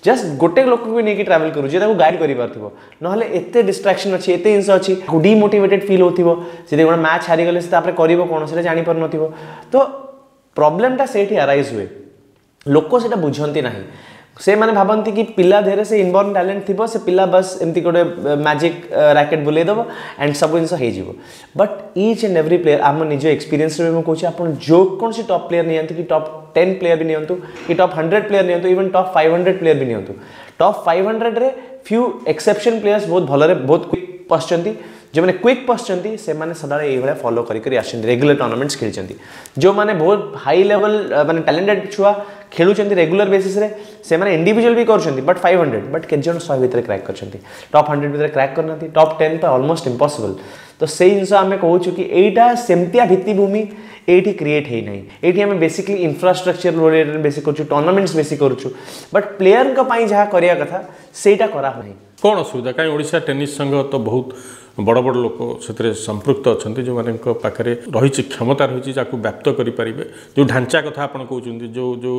ଜଷ୍ଟ ଗୋଟେ ଲୋକକୁ ନେଇକି ଟ୍ରାଭେଲ୍ କରୁଛି, ତାକୁ ଗାଇଡ଼ କରିପାରୁଥିବ, ନହେଲେ ଏତେ ଡିଷ୍ଟ୍ରାକ୍ସନ୍ ଅଛି, ଏତେ ଜିନିଷ ଅଛି, ଡିମୋଟିଭେଟେଡ୍ ଫିଲ୍ ହେଉଥିବ। ଯଦି ଗୋଟେ ମ୍ୟାଚ୍ ହାରିଗଲେ ସେ ତାପରେ କରିବ କ'ଣ ସେଇଟା ଜାଣିପାରୁନଥିବ। ତ ପ୍ରୋବ୍ଲେମଟା ସେଇଠି ଆରାଇଜ୍ ହୁଏ, ଲୋକ ସେଇଟା ବୁଝନ୍ତି ନାହିଁ। ସେମାନେ ଭାବନ୍ତି କି ପିଲା ଦେହରେ ସେ ଇନବର୍ନ ଟ୍ୟାଲେଣ୍ଟ ଥିବ, ସେ ପିଲା ବାସ୍ ଏମିତି ଗୋଟେ ମ୍ୟାଜିକ୍ ରାକେଟ୍ ବୁଲେଇ ଦେବ ଆଣ୍ଡ ସବୁ ଜିନିଷ ହେଇଯିବ। But each and every player, ଆମ ନିଜ ଏକ୍ସପିରିଏନ୍ସରେ ବି ମୁଁ କହୁଛି, ଆପଣ ଯେକୌଣସି ଟପ୍ ପ୍ଲେୟର ନିଅନ୍ତୁ କି ଟପ୍ 10 ପ୍ଲେୟର ବି ନିଅନ୍ତୁ କି ଟପ୍ 100 ପ୍ଲେୟର ନିଅନ୍ତୁ, ଇଭେନ୍ ଟପ୍ 500 ପ୍ଲେୟର ବି ନିଅନ୍ତୁ, ଟପ୍ 500ରେ ଫ୍ୟୁ ଏକ୍ସେପସନ୍ ପ୍ଲେୟର୍ସ ବହୁତ ଭଲରେ ବହୁତ କ୍ୱିକ୍ ପଶିଛନ୍ତି। ଯେଉଁମାନେ କ୍ୱିକ୍ ପଶିଛନ୍ତି ସେମାନେ ସଦାବେଳେ ଏଇଭଳିଆ ଫଲୋ କରି କରି ଆସିଛନ୍ତି, ରେଗୁଲାର ଟୁର୍ଣ୍ଣାମେଣ୍ଟସ୍ ଖେଳିଛନ୍ତି। ଯେଉଁମାନେ ବହୁତ ହାଇ ଲେଭେଲ୍ ମାନେ ଟ୍ୟାଲେଣ୍ଟେଡ୍ ଛୁଆ ଖେଳୁଛନ୍ତି ରେଗୁଲାର ବେସିସ୍ରେ, ସେମାନେ ଇଣ୍ଡିଭିଜୁଆଲ ବି କରୁଛନ୍ତି, ବଟ୍ 500 ବଟ୍ କେତେ ଜଣ 100 ଭିତରେ କ୍ରାକ୍ କରିଛନ୍ତି, ଟପ୍ 100 ଭିତରେ କ୍ରାକ୍ କରିନାହାନ୍ତି, ଟପ୍ 10 ତ ଅଲମୋଷ୍ଟ ଇମ୍ପସିବଲ୍। ତ ସେଇ ଜିନିଷ ଆମେ କହୁଛୁ କି ଏଇଟା ସେମିତିଆ ଭିତ୍ତିଭୂମି ଏଇଠି କ୍ରିଏଟ୍ ହେଇନାହିଁ। ଏଇଠି ଆମେ ବେସିକଲି ଇନଫ୍ରାଷ୍ଟ୍ରକ୍ଚର ରିଲେଟେଡ୍ ବେଶୀ କରୁଛୁ, ଟୁର୍ଣ୍ଣାମେଣ୍ଟସ୍ ବେଶୀ କରୁଛୁ, ବଟ୍ ପ୍ଲେୟରଙ୍କ ପାଇଁ ଯାହା କରିବା କଥା ସେଇଟା କରାହେଉନାହିଁ। କ'ଣ ଅସୁବିଧା କାହିଁ? ଓଡ଼ିଶା ଟେନିସ୍ ସଂଘ ତ ବହୁତ ବଡ଼ ବଡ଼ ଲୋକ ସେଥିରେ ସମ୍ପୃକ୍ତ ଅଛନ୍ତି, ଯେଉଁମାନଙ୍କ ପାଖରେ ରହିଛି କ୍ଷମତା ରହିଛି ଯାହାକୁ ବ୍ୟାପ୍ତ କରିପାରିବେ। ଯେଉଁ ଢାଞ୍ଚା କଥା ଆପଣ କହୁଛନ୍ତି, ଯେଉଁ ଯେଉଁ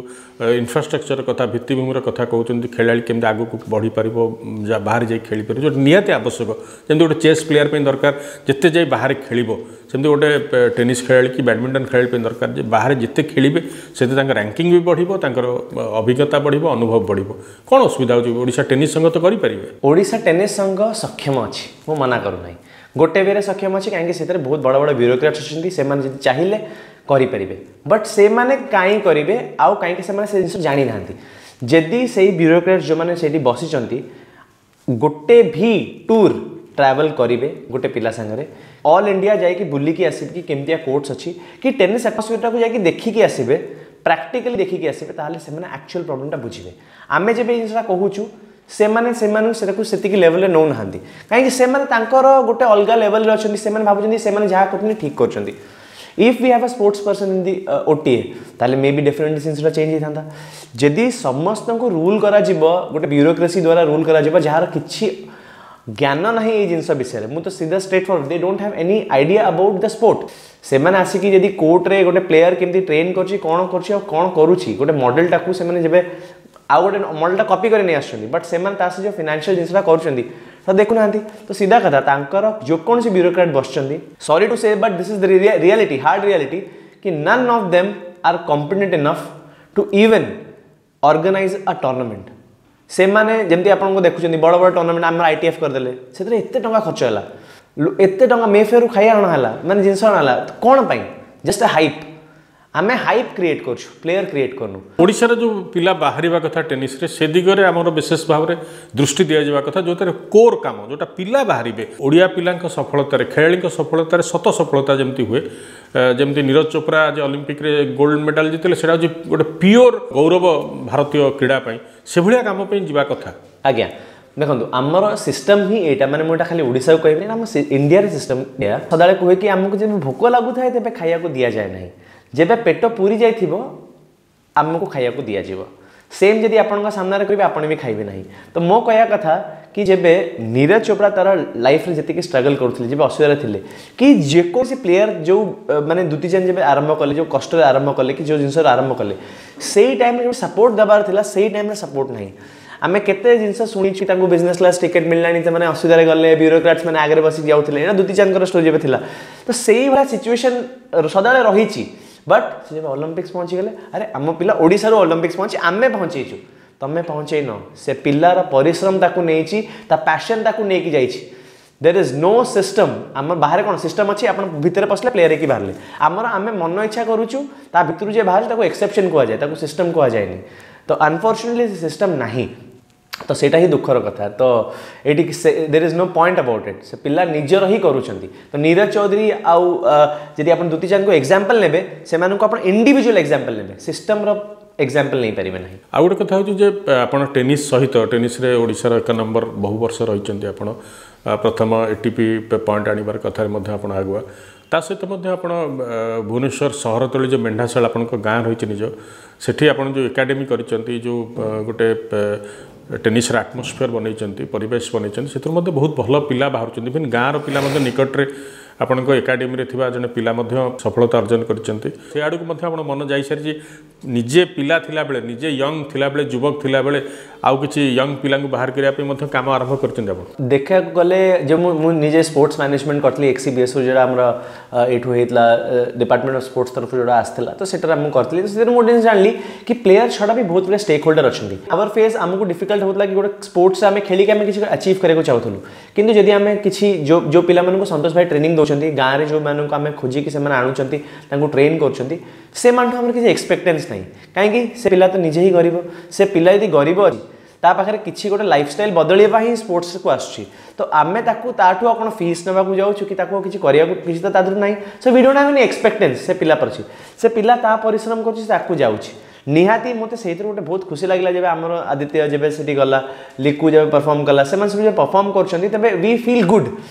ଇନଫ୍ରାଷ୍ଟ୍ରକ୍ଚର କଥା, ଭିତ୍ତିଭୂମିର କଥା କହୁଛନ୍ତି, ଖେଳାଳି କେମିତି ଆଗକୁ ବଢ଼ିପାରିବ, ବାହାରେ ଯାଇ ଖେଳିପାରିବ, ଯେଉଁଟା ନିହାତି ଆବଶ୍ୟକ। ଯେମିତି ଗୋଟେ ଚେସ୍ ପ୍ଲେୟାର ପାଇଁ ଦରକାର ଯେତେ ଯାଇ ବାହାରେ ଖେଳିବ, ସେମିତି ଗୋଟେ ଟେନିସ୍ ଖେଳାଳି କି ବ୍ୟାଡ଼ମିଣ୍ଟନ ଖେଳାଳି ପାଇଁ ଦରକାର ଯେ ବାହାରେ ଯେତେ ଖେଳିବେ ସେତେ ତାଙ୍କ ରାଙ୍କିଙ୍ଗ ବି ବଢ଼ିବ, ତାଙ୍କର ଅଭିଜ୍ଞତା ବଢ଼ିବ, ଅନୁଭବ ବଢ଼ିବ। କ'ଣ ଅସୁବିଧା ହେଉଛି? ଓଡ଼ିଶା ଟେନିସ୍ ସଂଘ ତ କରିପାରିବେ। ଓଡ଼ିଶା ଟେନିସ୍ ସଂଘ ସକ୍ଷମ ଅଛି, ମୁଁ ମନା କରୁନାହିଁ, ଗୋଟେ ୱେରେ ସକ୍ଷମ ଅଛି, କାହିଁକି ସେଥିରେ ବହୁତ ବଡ଼ ବଡ଼ ବ୍ୟୁରୋକ୍ରାଟ୍ସ ଅଛନ୍ତି, ସେମାନେ ଯଦି ଚାହିଁଲେ କରିପାରିବେ। ବଟ୍ ସେମାନେ କାହିଁ କରିବେ ଆଉ କାହିଁକି ସେମାନେ ସେ ଜିନିଷ ଜାଣିନାହାନ୍ତି। ଯଦି ସେଇ ବ୍ୟୁରୋକ୍ରାଟ୍ସ ଯେଉଁମାନେ ସେଇଠି ବସିଛନ୍ତି ଗୋଟେ ଭି ଟୁର୍ ଟ୍ରାଭେଲ୍ କରିବେ ଗୋଟେ ପିଲା ସାଙ୍ଗରେ, ଅଲ୍ ଇଣ୍ଡିଆ ଯାଇକି ବୁଲିକି ଆସିବେ କି କେମିତିଆ କୋର୍ଟସ୍ ଅଛି କି ଟେନିସ୍ ଆଟମସ୍ଫିୟରଟାକୁ ଯାଇକି ଦେଖିକି ଆସିବେ, ପ୍ରାକ୍ଟିକାଲି ଦେଖିକି ଆସିବେ, ତାହେଲେ ସେମାନେ ଆକ୍ଚୁଆଲ୍ ପ୍ରୋବ୍ଲେମଟା ବୁଝିବେ। ଆମେ ଯେବେ ଏଇ ଜିନିଷଟା କହୁଛୁ ସେମାନେ ସେମାନଙ୍କୁ ସେଟାକୁ ସେତିକି ଲେଭେଲରେ ନେଉନାହାନ୍ତି, କାହିଁକି ସେମାନେ ତାଙ୍କର ଗୋଟେ ଅଲଗା ଲେଭେଲରେ ଅଛନ୍ତି, ସେମାନେ ଭାବୁଛନ୍ତି ସେମାନେ ଯାହା କରୁଛନ୍ତି ଠିକ୍ କରୁଛନ୍ତି। If we have a sports person in the OTA, ତାହେଲେ ମେ ବି ଡେଫିନେଟଲି ଜିନିଷଟା ଚେଞ୍ଜ ହେଇଥାନ୍ତା। ଯଦି ସମସ୍ତଙ୍କୁ ରୁଲ୍ କରାଯିବ ଗୋଟେ ବ୍ୟୁରୋକ୍ରେସି ଦ୍ୱାରା ରୁଲ୍ କରାଯିବ, ଯାହାର କିଛି ଜ୍ଞାନ ନାହିଁ ଏଇ ଜିନିଷ ବିଷୟରେ, ମୁଁ ତ ସିଧା straight forward, they don't have any idea about the sport. ସେମାନେ ଆସିକି ଯଦି କୋର୍ଟରେ ଗୋଟେ ପ୍ଲେୟର କେମିତି ଟ୍ରେନ୍ କରୁଛି, କ'ଣ କରୁଛି ଆଉ କ'ଣ କରୁଛି, ଗୋଟେ ମଡେଲଟାକୁ ସେମାନେ ଯେବେ ଆଉ ଗୋଟେ ମଡେଲଟା କପି କରି ନେଇ ଆସୁଛନ୍ତି, ବଟ୍ ସେମାନେ ତା ସହ ଯେଉଁ ଫିନାନ୍ସିଆଲ ଜିନିଷଟା କରୁଛନ୍ତି ତ ଦେଖୁନାହାନ୍ତି। ତ ସିଧା କଥା, ତାଙ୍କର ଯେକୌଣସି ବ୍ୟୁରୋକ୍ରାଟ୍ ବସିଛନ୍ତି, sorry to say but this is the reality, hard reality, କି none of them are competent enough to even organize a tournament. ସେମାନେ ଯେମିତି ଆପଣଙ୍କୁ ଦେଖୁଛନ୍ତି ବଡ଼ ବଡ଼ ଟୁର୍ଣ୍ଣାମେଣ୍ଟ ଆମର ITF କରିଦେଲେ, ସେଥିରେ ଏତେ ଟଙ୍କା ଖର୍ଚ୍ଚ ହେଲା, ଏତେ ଟଙ୍କା ମେଫେୟାରରୁ ଖାଇବା ଅଣା ହେଲା, ମାନେ ଜିନିଷ ଅଣା ହେଲା, କ'ଣ ପାଇଁ? Just hype. ଆମେ ହାଇପ୍ କ୍ରିଏଟ୍ କରୁଛୁ, ପ୍ଲେୟର କ୍ରିଏଟ୍ କରୁନୁ। ଓଡ଼ିଶାର ଯେଉଁ ପିଲା ବାହାରିବା କଥା ଟେନିସ୍ରେ, ସେ ଦିଗରେ ଆମର ବିଶେଷ ଭାବରେ ଦୃଷ୍ଟି ଦିଆଯିବା କଥା, ଯେଉଁଥିରେ କୋର୍ କାମ ଯେଉଁଟା ପିଲା ବାହାରିବେ। ଓଡ଼ିଆ ପିଲାଙ୍କ ସଫଳତାରେ, ଖେଳାଳିଙ୍କ ସଫଳତାରେ ଶତ ସଫଳତା ଯେମିତି ହୁଏ, ଯେମିତି ନୀରଜ ଚୋପ୍ରା ଯେ ଅଲିମ୍ପିକରେ ଗୋଲ୍ଡ ମେଡାଲ ଜିତିଲେ, ସେଇଟା ହେଉଛି ଗୋଟେ ପିଓର ଗୌରବ ଭାରତୀୟ କ୍ରୀଡ଼ା ପାଇଁ, ସେଭଳିଆ କାମ ପାଇଁ ଯିବା କଥା। ଆଜ୍ଞା, ଦେଖନ୍ତୁ, ଆମର ସିଷ୍ଟମ୍ ହିଁ ଏଇଟା। ମାନେ ମୁଁ ଏଇଟା ଖାଲି ଓଡ଼ିଶାକୁ କହିବିନି, ଆମ ଇଣ୍ଡିଆର ସିଷ୍ଟମ୍ ଏଇଆ। ସଦାବେଳେ କୁହେ କି ଆମକୁ ଯେବେ ଭୋକ ଲାଗୁଥାଏ, ତେବେ ଖାଇବାକୁ ଦିଆଯାଏ ନାହିଁ। ଯେବେ ପେଟ ପୁରି ଯାଇଥିବ, ଆମକୁ ଖାଇବାକୁ ଦିଆଯିବ। ସେମ୍ ଯଦି ଆପଣଙ୍କ ସାମ୍ନାରେ କରିବେ, ଆପଣ ବି ଖାଇବେ ନାହିଁ। ତ ମୋ କହିବା କଥା କି ଯେବେ ନୀରଜ ଚୋପ୍ରା ତାର ଲାଇଫ୍ରେ ଯେତିକି ଷ୍ଟ୍ରଗଲ୍ କରୁଥିଲେ, ଯେବେ ଅସୁବିଧାରେ ଥିଲେ, କି ଯେକୌଣସି ପ୍ଲେୟାର ଯେଉଁ ମାନେ ଦୁତି ଚାନ୍ଦ ଯେବେ ଆରମ୍ଭ କଲେ, ଯେଉଁ କଷ୍ଟରେ ଆରମ୍ଭ କଲେ କି ଯେଉଁ ଜିନିଷରେ ଆରମ୍ଭ କଲେ, ସେଇ ଟାଇମ୍ରେ ଯେଉଁ ସପୋର୍ଟ ଦେବାର ଥିଲା, ସେଇ ଟାଇମ୍ରେ ସପୋର୍ଟ ନାହିଁ। ଆମେ କେତେ ଜିନିଷ ଶୁଣିଛୁ, ତାଙ୍କୁ ବିଜନେସ୍ କ୍ଲାସ୍ ଟିକେଟ୍ ମିଳିଲାଣି, ସେମାନେ ଅସୁବିଧାରେ ଗଲେ, ବ୍ୟୁରୋକ୍ରାଟ୍ସ ମାନେ ଆଗରେ ବସିକି ଯାଉଥିଲେ। ଏଇଟା ଦୁତି ଚାନ୍ଦଙ୍କର ଷ୍ଟୋରି ଯେବେ ଥିଲା, ତ ସେଇଭଳିଆ ସିଚୁଏସନ୍ ସଦାବେଳେ ରହିଛି। ବଟ୍ ସେ ଯେବେ ଅଲିମ୍ପିକ୍ସ ପହଞ୍ଚିଗଲେ, ଆରେ ଆମ ପିଲା ଓଡ଼ିଶାରୁ ଅଲିମ୍ପିକ୍ସ ପହଞ୍ଚି, ଆମେ ପହଞ୍ଚେଇଛୁ, ତମେ ପହଞ୍ଚେଇନ। ସେ ପିଲାର ପରିଶ୍ରମ ତାକୁ ନେଇଛି, ତା ପ୍ୟାସନ୍ ତାକୁ ନେଇକି ଯାଇଛି। There is no system. ଆମର ବାହାରେ କ'ଣ ସିଷ୍ଟମ୍ ଅଛି? ଆପଣ ଭିତରେ ପଶିଲେ ପ୍ଲେୟାର ହେଇକି ବାହାରିଲେ। ଆମର ଆମେ ମନ ଇଚ୍ଛା କରୁଛୁ, ତା ଭିତରୁ ଯିଏ ବାହାରୁଛି ତାକୁ ଏକ୍ସେପସନ୍ କୁହାଯାଏ, ତାକୁ ସିଷ୍ଟମ୍ କୁହାଯାଏନି। ତ ଅନଫର୍ଚୁନେଟଲି ସେ ସିଷ୍ଟମ୍ ନାହିଁ, ତ ସେଇଟା ହିଁ ଦୁଃଖର କଥା। ତ ଏଇଠି ସେ there is no point about it. ସେ ପିଲା ନିଜର ହିଁ କରୁଛନ୍ତି। ତ ନୀରଜ ଚୌଧୁରୀ ଆଉ ଯଦି ଆପଣ ଦୁତି ଚାନ୍ଦଙ୍କୁ ଏକ୍ଜାମ୍ପଲ୍ ନେବେ, ସେମାନଙ୍କୁ ଆପଣ ଇଣ୍ଡିଭିଜୁଆଲ ଏକ୍ଜାମ୍ପଲ୍ ନେବେ, ସିଷ୍ଟମ୍ର ଏକ୍ଜାମ୍ପଲ୍ ନେଇପାରିବେ ନାହିଁ। ଆଉ ଗୋଟେ କଥା ହେଉଛି ଯେ ଆପଣ ଟେନିସ୍ ସହିତ, ଟେନିସ୍ରେ ଓଡ଼ିଶାର ଏକ ନମ୍ବର ବହୁ ବର୍ଷ ରହିଛନ୍ତି ଆପଣ, ପ୍ରଥମ ଏଟିପି ପଏଣ୍ଟ ଆଣିବାର କଥାରେ ମଧ୍ୟ ଆପଣ ଆଗୁଆ। ତା ସହିତ ମଧ୍ୟ ଆପଣ ଭୁବନେଶ୍ୱର ସହର ତଳି ଯେଉଁ ମେଣ୍ଢାଶାଳ ଆପଣଙ୍କ ଗାଁ ରହିଛି ନିଜ, ସେଠି ଆପଣ ଯେଉଁ ଏକାଡେମୀ କରିଛନ୍ତି, ଯେଉଁ ଗୋଟେ ଟେନିସ୍ର ଆଟମୋସ୍ଫିୟର ବନେଇଛନ୍ତି, ପରିବେଶ ବନେଇଛନ୍ତି, ସେଥିରୁ ମଧ୍ୟ ବହୁତ ଭଲ ପିଲା ବାହାରୁଛନ୍ତି। ଇଭେନ୍ ଗାଁର ପିଲା ମଧ୍ୟ, ନିକଟରେ ଆପଣଙ୍କ ଏକାଡେମୀରେ ଥିବା ଜଣେ ପିଲା ମଧ୍ୟ ସଫଳତା ଅର୍ଜନ କରିଛନ୍ତି। ସେ ଆଡ଼କୁ ମଧ୍ୟ ଆପଣ ମନ ଯାଇସାରିଛି। ନିଜେ ପିଲା ଥିଲାବେଳେ, ନିଜେ ୟଙ୍ଗ ଥିଲାବେଳେ, ଯୁବକ ଥିଲାବେଳେ ଆଉ କିଛି ୟଙ୍ଗ ପିଲାଙ୍କୁ ବାହାର କରିବା ପାଇଁ ମଧ୍ୟ କାମ ଆରମ୍ଭ କରିଛନ୍ତି ଆପଣ। ଦେଖିବାକୁ ଗଲେ ଯେ ମୁଁ ନିଜେ ସ୍ପୋର୍ଟସ୍ ମ୍ୟାନେଜମେଣ୍ଟ କରିଥିଲି ଏକ୍ସିବିଏସ୍ରୁ, ଯେଉଁଟା ଆମର ଏଇଠୁ ହେଇଥିଲା, ଡିପାର୍ଟମେଣ୍ଟ ଅଫ୍ ସ୍ପୋର୍ଟସ୍ ତରଫରୁ ଯେଉଁଟା ଆସିଥିଲା, ତ ସେଟାରେ ମୁଁ କରିଥିଲି। ତ ସେଥିରେ ମୁଁ ଗୋଟେ ଜିନିଷ ଜାଣିଲି କି ପ୍ଲେୟାର ଛଡ଼ା ବି ବହୁତ ଗୁଡ଼େ ଷ୍ଟେକ୍ ହୋଲ୍ଡର ଅଛନ୍ତି। ଆୱାର ଫେଜ୍ ଆମକୁ ଡିଫିକଲ୍ଟ ହେଉଥିଲା କି ଗୋଟେ ସ୍ପୋର୍ଟସ୍ ଆମେ ଖେଳିକି ଆମେ କିଛି ଆଚିଭ୍ କରିବାକୁ ଚାହୁଁଥିଲୁ, କିନ୍ତୁ ଯଦି ଆମେ କିଛି ଯେଉଁ ଯେଉଁ ପିଲାମାନଙ୍କୁ ସନ୍ତୋଷ ଭାଇ ଟ୍ରେନିଂ ଦେଉଛନ୍ତି, ଗାଁରେ ଯେଉଁମାନଙ୍କୁ ଆମେ ଖୋଜିକି ସେମାନେ ଆଣୁଛନ୍ତି, ତାଙ୍କୁ ଟ୍ରେନ୍ କରୁଛନ୍ତି, ସେମାନଠୁ ଆମର କିଛି ଏକ୍ସପେକ୍ଟେନ୍ସ ନାହିଁ। କାହିଁକି? ସେ ପିଲା ତ ନିଜେ ହିଁ ଗରିବ। ସେ ପିଲା ଯଦି ଗରିବ ଅଛି, ତା ପାଖରେ କିଛି ଗୋଟେ ଲାଇଫଷ୍ଟାଇଲ୍ ବଦଳିବା ହିଁ ସ୍ପୋର୍ଟସକୁ ଆସୁଛି। ତ ଆମେ ତାକୁ ତାଠୁ ଆଉ କ'ଣ ଫିସ୍ ନେବାକୁ ଯାଉଛୁ କି ତାକୁ ଆଉ କିଛି କରିବାକୁ କିଛି ତ ତା ଦେହରୁ ନାହିଁ। So we don't have any expectance ସେ ପିଲା ପ୍ରତି। ସେ ପିଲା ତା ପରିଶ୍ରମ କରୁଛି, ସେ ଆଗକୁ ଯାଉଛି। ନିହାତି ମୋତେ ସେଇଥିରୁ ଗୋଟେ ବହୁତ ଖୁସି ଲାଗିଲା, ଯେବେ ଆମର ଆଦିତ୍ୟ ଯେବେ ସେଠି ଗଲା, ଲିକୁ ଯେବେ ପରଫର୍ମ କଲା, ସେମାନେ ସବୁ ଯେବେ ପରଫର୍ମ କରୁଛନ୍ତି, ତେବେ we feel good,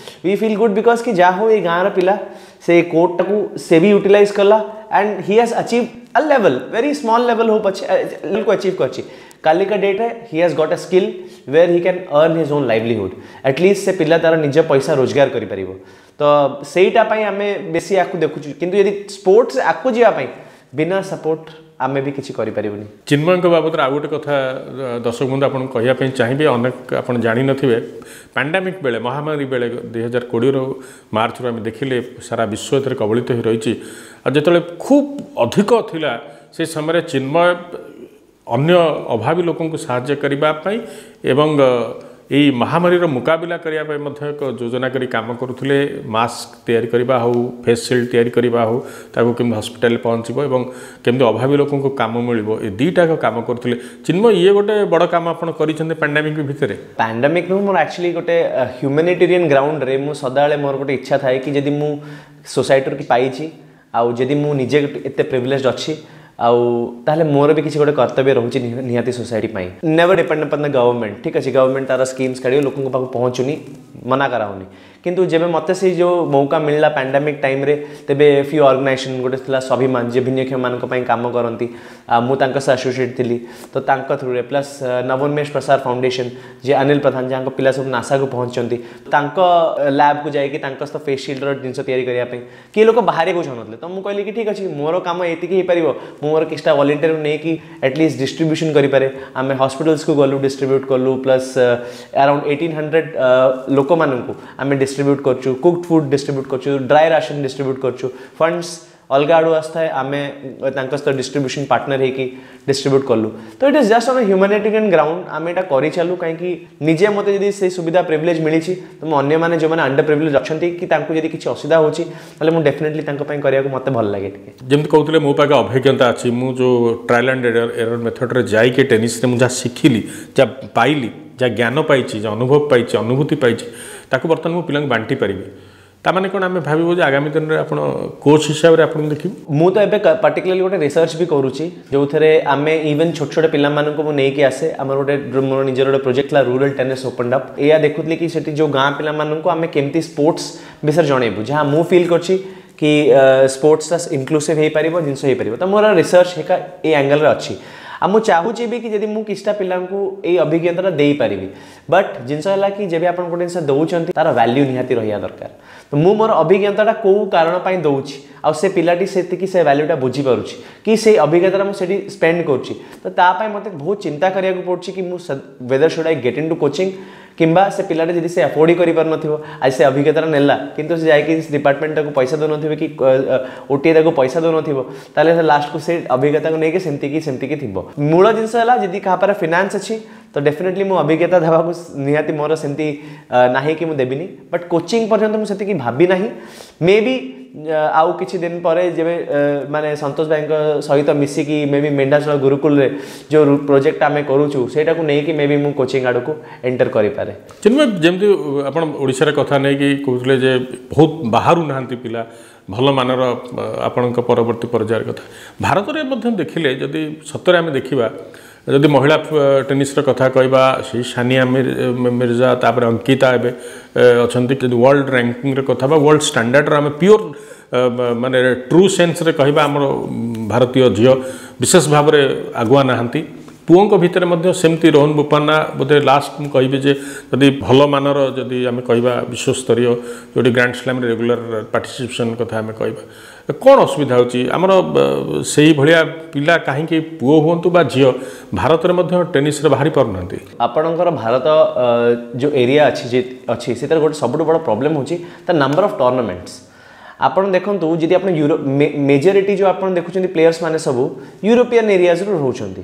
we feel good because କି ଯାହା ହଉ, ଏଇ ଗାଁର ପିଲା ସେ କୋର୍ଟଟାକୁ ସେ ବି ୟୁଟିଲାଇଜ୍ କଲା and he has achieve a level, very small level ହଉ ପଛେ, ଲେଭେଲକୁ ଆଚିଭ୍ କରିଛି। କାଲିକା ଡେଟ୍ରେ he has got a skill where he can earn his own livelihood. At least ସେ ପିଲା ତାର ନିଜ ପଇସା ରୋଜଗାର କରିପାରିବ। ତ ସେଇଟା ପାଇଁ ଆମେ ବେଶୀ ଆକୁ ଦେଖୁଛୁ। କିନ୍ତୁ ଯଦି ସ୍ପୋର୍ଟସ୍ ଆଗକୁ ଯିବା ପାଇଁ ବିନା ସପୋର୍ଟ ଆମେ ବି କିଛି କରିପାରିବୁନି। ଚିନ୍ମୟଙ୍କ ବାବଦରେ ଆଉ ଗୋଟେ କଥା ଦର୍ଶକ ବନ୍ଧୁ ଆପଣଙ୍କୁ କହିବା ପାଇଁ ଚାହିଁବି, ଅନେକ ଆପଣ ଜାଣିନଥିବେ। ପାଣ୍ଡାମିକ୍ ବେଳେ, ମହାମାରୀ ବେଳେ, 2020ର ମାର୍ଚ୍ଚରୁ ଆମେ ଦେଖିଲେ ସାରା ବିଶ୍ୱ ଏଥିରେ କବଳିତ ହୋଇ ରହିଛି। ଆଉ ଯେତେବେଳେ ଖୁବ୍ ଅଧିକ ଥିଲା, ସେ ସମୟରେ ଚିନ୍ମୟ ଅନ୍ୟ ଅଭାବୀ ଲୋକଙ୍କୁ ସାହାଯ୍ୟ କରିବା ପାଇଁ ଏବଂ ଏଇ ମହାମାରୀର ମୁକାବିଲା କରିବା ପାଇଁ ମଧ୍ୟ ଏକ ଯୋଜନା କରି କାମ କରୁଥିଲେ। ମାସ୍କ ତିଆରି କରିବା ହେଉ, ଫେସ୍ ସିଲ୍ଡ ତିଆରି କରିବା ହେଉ, ତାକୁ କେମିତି ହସ୍ପିଟାଲରେ ପହଞ୍ଚିବ ଏବଂ କେମିତି ଅଭାବୀ ଲୋକଙ୍କୁ କାମ ମିଳିବ, ଏ ଦୁଇଟାକ କାମ କରୁଥିଲେ ଚିନ୍ମୟ। ଇଏ ଗୋଟେ ବଡ଼ କାମ ଆପଣ କରିଛନ୍ତି ପାଣ୍ଡାମିକ୍ ଭିତରେ। ପାଣ୍ଡାମିକ୍ ନୁହଁ, ମୋର ଆକ୍ଚୁଆଲି ଗୋଟେ ହ୍ୟୁମାନିଟେରିଆନ୍ ଗ୍ରାଉଣ୍ଡରେ ମୁଁ ସଦାବେଳେ ମୋର ଗୋଟେ ଇଚ୍ଛା ଥାଏ କି ଯଦି ମୁଁ ସୋସାଇଟିରୁ କି ପାଇଛି ଆଉ ଯଦି ମୁଁ ନିଜେ ଏତେ ପ୍ରିଭିଲେଜ୍ ଅଛି ଆଉ ତାହେଲେ ମୋର ବି କିଛି ଗୋଟେ କର୍ତ୍ତବ୍ୟ ରହୁଛି ନିହାତି ସୋସାଇଟି ପାଇଁ। Never depend upon the government. ଠିକ୍ ଅଛି, ଗଭର୍ଣ୍ଣମେଣ୍ଟ ତାର ସ୍କିମ୍ସ କାଢ଼ିବ, ଲୋକଙ୍କ ପାଖକୁ ପହଞ୍ଚୁନି, ମନା କରାହେଉନି। କିନ୍ତୁ ଯେବେ ମୋତେ ସେଇ ଯେଉଁ ମୌକା ମିଳିଲା ପାଣ୍ଡାମିକ୍ ଟାଇମ୍ରେ, ତେବେ ଫ୍ୟୁ ଅର୍ଗାନାଇଜେସନ୍, ଗୋଟେ ଥିଲା ସ୍ୱାଭିମାନ, ଯିଏ ଭିନ୍ନକ୍ଷମମାନଙ୍କ ପାଇଁ କାମ କରନ୍ତି, ଆଉ ମୁଁ ତାଙ୍କ ସହ ଆସୋସିଏଟ୍ ଥିଲି, ତ ତାଙ୍କ ଥ୍ରୁରେ, ପ୍ଲସ୍ ନବୋନ୍ମେଷ ପ୍ରସାର ଫାଉଣ୍ଡେସନ୍, ଯିଏ ଅନିଲ ପ୍ରଧାନ, ଯାହାଙ୍କ ପିଲା ସବୁ ନାସାକୁ ପହଞ୍ଚିଛନ୍ତି, ତାଙ୍କ ଲ୍ୟାବ୍କୁ ଯାଇକି ତାଙ୍କ ସହିତ ଫେସ୍ ସିଲ୍ଡର ଜିନିଷ ତିଆରି କରିବା ପାଇଁ କିଏ ଲୋକ ବାହାରିବାକୁ ଚାହୁଁନଥିଲେ। ତ ମୁଁ କହିଲି କି ଠିକ୍ ଅଛି, ମୋର କାମ ଏତିକି ହେଇପାରିବ, ମୁଁ ମୋର କିଛିଟା ଭଲେଣ୍ଟିୟର ନେଇକି ଆଟଲିଷ୍ଟ ଡିଷ୍ଟ୍ରିବ୍ୟୁସନ୍ କରିପାରେ। ଆମେ ହସ୍ପିଟାଲ୍ସକୁ ଗଲୁ, ଡିଷ୍ଟ୍ରିବ୍ୟୁଟ୍ କଲୁ, ପ୍ଲସ୍ ଆରାଉଣ୍ଡ 1800 ଲୋକମାନଙ୍କୁ ଆମେ ଡିଷ୍ଟ୍ରିବ୍ୟୁଟ୍ କରୁଛୁ, କୁକ୍ଡ ଫୁଡ୍ ଡିଷ୍ଟ୍ରିବ୍ୟୁଟ୍ କରୁଛୁ, ଡ୍ରାଏ ରାସନ୍ ଡିଷ୍ଟ୍ରିବ୍ୟୁଟ୍ କରୁଛୁ। ଫଣ୍ଡସ୍ ଅଲଗା ଆଡ଼ୁ ଆସିଥାଏ, ଆମେ ତାଙ୍କ ସହିତ ଡିଷ୍ଟ୍ରିବ୍ୟୁସନ୍ ପାର୍ଟନର ହେଇକି ଡିଷ୍ଟ୍ରିବ୍ୟୁଟ୍ କଲୁ। ତ it is just on humanitarian ground ଆମେ ଏଇଟା କରିଚାଲୁ। କାହିଁକି ନିଜେ ମୋତେ ଯଦି ସେଇ ସୁବିଧା ପ୍ରିଭିଲେଜ୍ ମିଳିଛି, ତ ମୁଁ ଅନ୍ୟମାନେ ଯେଉଁମାନେ ଅଣ୍ଡର ପ୍ରିଭିଲେଜ୍ ଅଛନ୍ତି କି ତାଙ୍କୁ ଯଦି କିଛି ଅସୁବିଧା ହେଉଛି, ତାହେଲେ ମୁଁ ଡେଫିନେଟଲି ତାଙ୍କ ପାଇଁ କରିବାକୁ ମୋତେ ଭଲ ଲାଗେ ଟିକେ। ଯେମିତି କହୁଥିଲେ, ମୋ ପାଖେ ଅଭିଜ୍ଞତା ଅଛି, ମୁଁ ଯେଉଁ ଟ୍ରାଏଲ୍ ଆଣ୍ଡ ଏରର୍ ମେଥଡ଼ରେ ଯାଇକି ଟେନିସ୍ରେ ମୁଁ ଯାହା ଶିଖିଲି, ଯାହା ପାଇଲି, ଯାହା ଜ୍ଞାନ ପାଇଛି, ଯାହା ଅନୁଭବ ପାଇଛି, ଅନୁଭୂତି ପାଇଛି, ତାକୁ ବର୍ତ୍ତମାନ ମୁଁ ପିଲାଙ୍କୁ ବାଣ୍ଟି ପାରିବି। ତାମାନେ କ'ଣ ଆମେ ଭାବିବୁ ଯେ ଆଗାମୀ ଦିନରେ ଆପଣ କୋଚ୍ ହିସାବରେ ଆପଣଙ୍କୁ ଦେଖିବୁ? ମୁଁ ତ ଏବେ ପର୍ଟିକୁଲାରଲି ଗୋଟେ ରିସର୍ଚ୍ଚ ବି କରୁଛି, ଯେଉଁଥିରେ ଆମେ ଇଭେନ୍ ଛୋଟ ଛୋଟ ପିଲାମାନଙ୍କୁ ମୁଁ ନେଇକି ଆସେ। ଆମର ଗୋଟେ ମୋର ନିଜର ଗୋଟେ ପ୍ରୋଜେକ୍ଟ ଥିଲା ରୁରାଲ୍ ଟେନିସ୍ ଓପନ୍ ଅପ୍। ଏଇଆ ଦେଖୁଥିଲି କି ସେଠି ଯେଉଁ ଗାଁ ପିଲାମାନଙ୍କୁ ଆମେ କେମିତି ସ୍ପୋର୍ଟସ୍ ବିଷୟରେ ଜଣେଇବୁ, ଯାହା ମୁଁ ଫିଲ୍ କରିଛି କି ସ୍ପୋର୍ଟସଟା ଇନକ୍ଲୁସିଭ୍ ହେଇପାରିବ, ଜିନିଷ ହେଇପାରିବ। ତ ମୋର ରିସର୍ଚ୍ଚ ହେକା ଏଇ ଆଙ୍ଗେଲରେ ଅଛି। ଆଉ ମୁଁ ଚାହୁଁଛି ବି କି ଯଦି ମୁଁ କିଛିଟା ପିଲାଙ୍କୁ ଏଇ ଅଭିଜ୍ଞତାଟା ଦେଇପାରିବି। ବଟ୍ ଜିନିଷ ହେଲା କି ଯେବେ ଆପଣ ଗୋଟେ ଜିନିଷ ଦେଉଛନ୍ତି, ତାର ଭ୍ୟାଲ୍ୟୁ ନିହାତି ରହିବା ଦରକାର। ତ ମୁଁ ମୋର ଅଭିଜ୍ଞତାଟା କେଉଁ କାରଣ ପାଇଁ ଦେଉଛି, ଆଉ ସେ ପିଲାଟି ସେତିକି ସେ ଭ୍ୟାଲ୍ୟୁଟା ବୁଝିପାରୁଛି କି ସେଇ ଅଭିଜ୍ଞତାଟା ମୁଁ ସେଠି ସ୍ପେଣ୍ଡ କରୁଛି, ତ ତା ପାଇଁ ମୋତେ ବହୁତ ଚିନ୍ତା କରିବାକୁ ପଡ଼ୁଛି କି ମୁଁ whether should I get into coaching, କିମ୍ବା ସେ ପିଲାଟା ଯଦି ସେ ଆଫୋର୍ଡ ହିଁ କରିପାରୁନଥିବ, ଆଜି ସେ ଅଭିଜ୍ଞତାଟା ନେଲା କିନ୍ତୁ ସେ ଯାଇକି ଡିପାର୍ଟମେଣ୍ଟ ତାକୁ ପଇସା ଦେଉନଥିବେ କି ଓଟିଏ ତାକୁ ପଇସା ଦେଉନଥିବ, ତାହେଲେ ସେ ଲାଷ୍ଟକୁ ସେ ଅଭିଜ୍ଞତାକୁ ନେଇକି ସେମିତିକି ଥିବ। ମୂଳ ଜିନିଷ ହେଲା ଯଦି କାହା ପାଖରେ ଫିନାନ୍ସ ଅଛି ତ ଡେଫିନେଟଲି ମୁଁ ଅଭିଜ୍ଞତା ଦେବାକୁ ନିହାତି ମୋର ସେମିତି ନାହିଁ କି ମୁଁ ଦେବିନି। ବଟ୍ କୋଚିଂ ପର୍ଯ୍ୟନ୍ତ ମୁଁ ସେତିକି ଭାବି ନାହିଁ। ମେ ବି ଆଉ କିଛି ଦିନ ପରେ ଯେବେ ମାନେ ସନ୍ତୋଷ ଭାଇଙ୍କ ସହିତ ମିଶିକି ମେ ବି ମେଣ୍ଢାଶୋଳ ଗୁରୁକୁଳରେ ଯେଉଁ ପ୍ରୋଜେକ୍ଟ ଆମେ କରୁଛୁ, ସେଇଟାକୁ ନେଇକି ମେ ବି ମୁଁ କୋଚିଂ ଆଡ଼କୁ ଏଣ୍ଟର କରିପାରେ। ଚିନ୍ମୟ, ଯେମିତି ଆପଣ ଓଡ଼ିଶାର କଥା ନେଇକି କହୁଥିଲେ ଯେ ବହୁତ ବାହାରୁ ନାହାନ୍ତି ପିଲା ଭଲ ମାନର, ଆପଣଙ୍କ ପରବର୍ତ୍ତୀ ପର୍ଯ୍ୟାୟର କଥା, ଭାରତରେ ମଧ୍ୟ ଦେଖିଲେ ଯଦି ସତରେ ଆମେ ଦେଖିବା, ଯଦି ମହିଳା ଟେନିସ୍ର କଥା କହିବା, ସେଇ ସାନିଆ ମିର୍ଜା, ତାପରେ ଅଙ୍କିତା ଏବେ ଅଛନ୍ତି। ଯଦି ୱାର୍ଲଡ ରାଙ୍କିଙ୍ଗର କଥା ବା ୱାର୍ଲଡ ଷ୍ଟାଣ୍ଡାର୍ଡ଼ର ଆମେ ପିଓର ମାନେ ଟ୍ରୁ ସେନ୍ସରେ କହିବା, ଆମର ଭାରତୀୟ ଝିଅ ବିଶେଷ ଭାବରେ ଆଗୁଆ ନାହାନ୍ତି। ପୁଅଙ୍କ ଭିତରେ ମଧ୍ୟ ସେମିତି ରୋହନ ବୋପାନ୍ନା ବୋଧେ ଲାଷ୍ଟ ମୁଁ କହିବି ଯେ ଯଦି ଭଲ ମାନର ଯଦି ଆମେ କହିବା ବିଶ୍ୱସ୍ତରୀୟ ଯେଉଁଠି ଗ୍ରାଣ୍ଡ ସ୍ଲାମ୍ରେ ରେଗୁଲାର ପାର୍ଟିସିପେସନ୍ କଥା ଆମେ କହିବା, କ'ଣ ଅସୁବିଧା ହେଉଛି ଆମର? ସେଇଭଳିଆ ପିଲା କାହିଁକି, ପୁଅ ହୁଅନ୍ତୁ ବା ଝିଅ, ଭାରତରେ ମଧ୍ୟ ଟେନିସ୍ରେ ବାହାରି ପାରୁନାହାନ୍ତି? ଆପଣଙ୍କର ଭାରତ ଯେଉଁ ଏରିଆ ଅଛି ଯେ ଅଛି, ସେଥିରେ ଗୋଟେ ସବୁଠୁ ବଡ଼ ପ୍ରୋବ୍ଲେମ୍ ହେଉଛି ତା ନମ୍ବର ଅଫ୍ ଟୁର୍ଣ୍ଣାମେଣ୍ଟସ୍। ଆପଣ ଦେଖନ୍ତୁ, ଯଦି ଆପଣ ୟୁରୋପ ମେଜରିଟି ଯେଉଁ ଆପଣ ଦେଖୁଛନ୍ତି ପ୍ଲେୟର୍ସ ମାନେ ସବୁ ୟୁରୋପିଆନ୍ ଏରିଆଜରୁ ରହୁଛନ୍ତି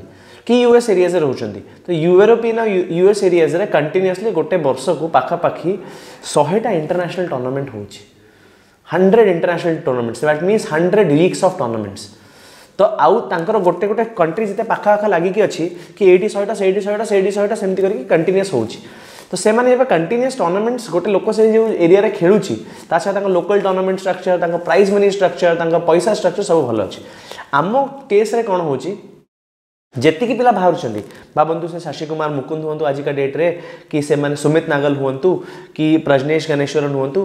କି ୟୁଏସ୍ ଏରିଆଜରେ ରହୁଛନ୍ତି। ତ ୟୁରୋପିଆନ୍ ଆଉ ୟୁଏସ୍ ଏରିଆଜରେ କଣ୍ଟିନ୍ୟୁଅସଲି ଗୋଟେ ବର୍ଷକୁ ପାଖାପାଖି 100ଟା ଇଣ୍ଟରନ୍ୟାସନାଲ୍ ଟୁର୍ଣ୍ଣାମେଣ୍ଟ ହେଉଛି, 100 international tournaments, that means 100 weeks of tournaments। ତ ଆଉ ତାଙ୍କର ଗୋଟେ ଗୋଟେ କଣ୍ଟ୍ରି ଯେତେ ପାଖାପାଖା ଲାଗିକି ଅଛି କି ଏଇଠି 100ଟା, ସେଇଠି 100ଟା, ସେଇଠି 100ଟା, ସେମିତି କରିକି କଣ୍ଟିନ୍ୟୁଅସ୍ ହେଉଛି। ତ ସେମାନେ ଏବେ କଣ୍ଟିନ୍ୟୁଅସ୍ ଟୁର୍ଣ୍ଣାମେଣ୍ଟସ୍ ଗୋଟେ ଲୋକ ସେ ଯେଉଁ ଏରିଆରେ ଖେଳୁଛି, ତା ସହ ତାଙ୍କ ଲୋକାଲ୍ ଟୁର୍ଣ୍ଣାମେଣ୍ଟ ଷ୍ଟ୍ରକ୍ଚର, ତାଙ୍କ ପ୍ରାଇଜ୍ ମନି ଷ୍ଟ୍ରକ୍ଚର, ତାଙ୍କ ପଇସା ଷ୍ଟ୍ରକ୍ଚର ସବୁ ଭଲ ଅଛି। ଆମ କେସ୍ରେ କ'ଣ ହେଉଛି, ଯେତିକି ପିଲା ବାହାରୁଛନ୍ତି, ଭାବନ୍ତୁ ସେ ଶଶି କୁମାର ମୁକୁନ୍ଦ ହୁଅନ୍ତୁ ଆଜିକା ଡେଟ୍ରେ, କି ସେମାନେ ସୁମିତ ନାଗଲ ହୁଅନ୍ତୁ କି ପ୍ରଜନେଶ ଗଣେଶ୍ୱରନ ହୁଅନ୍ତୁ,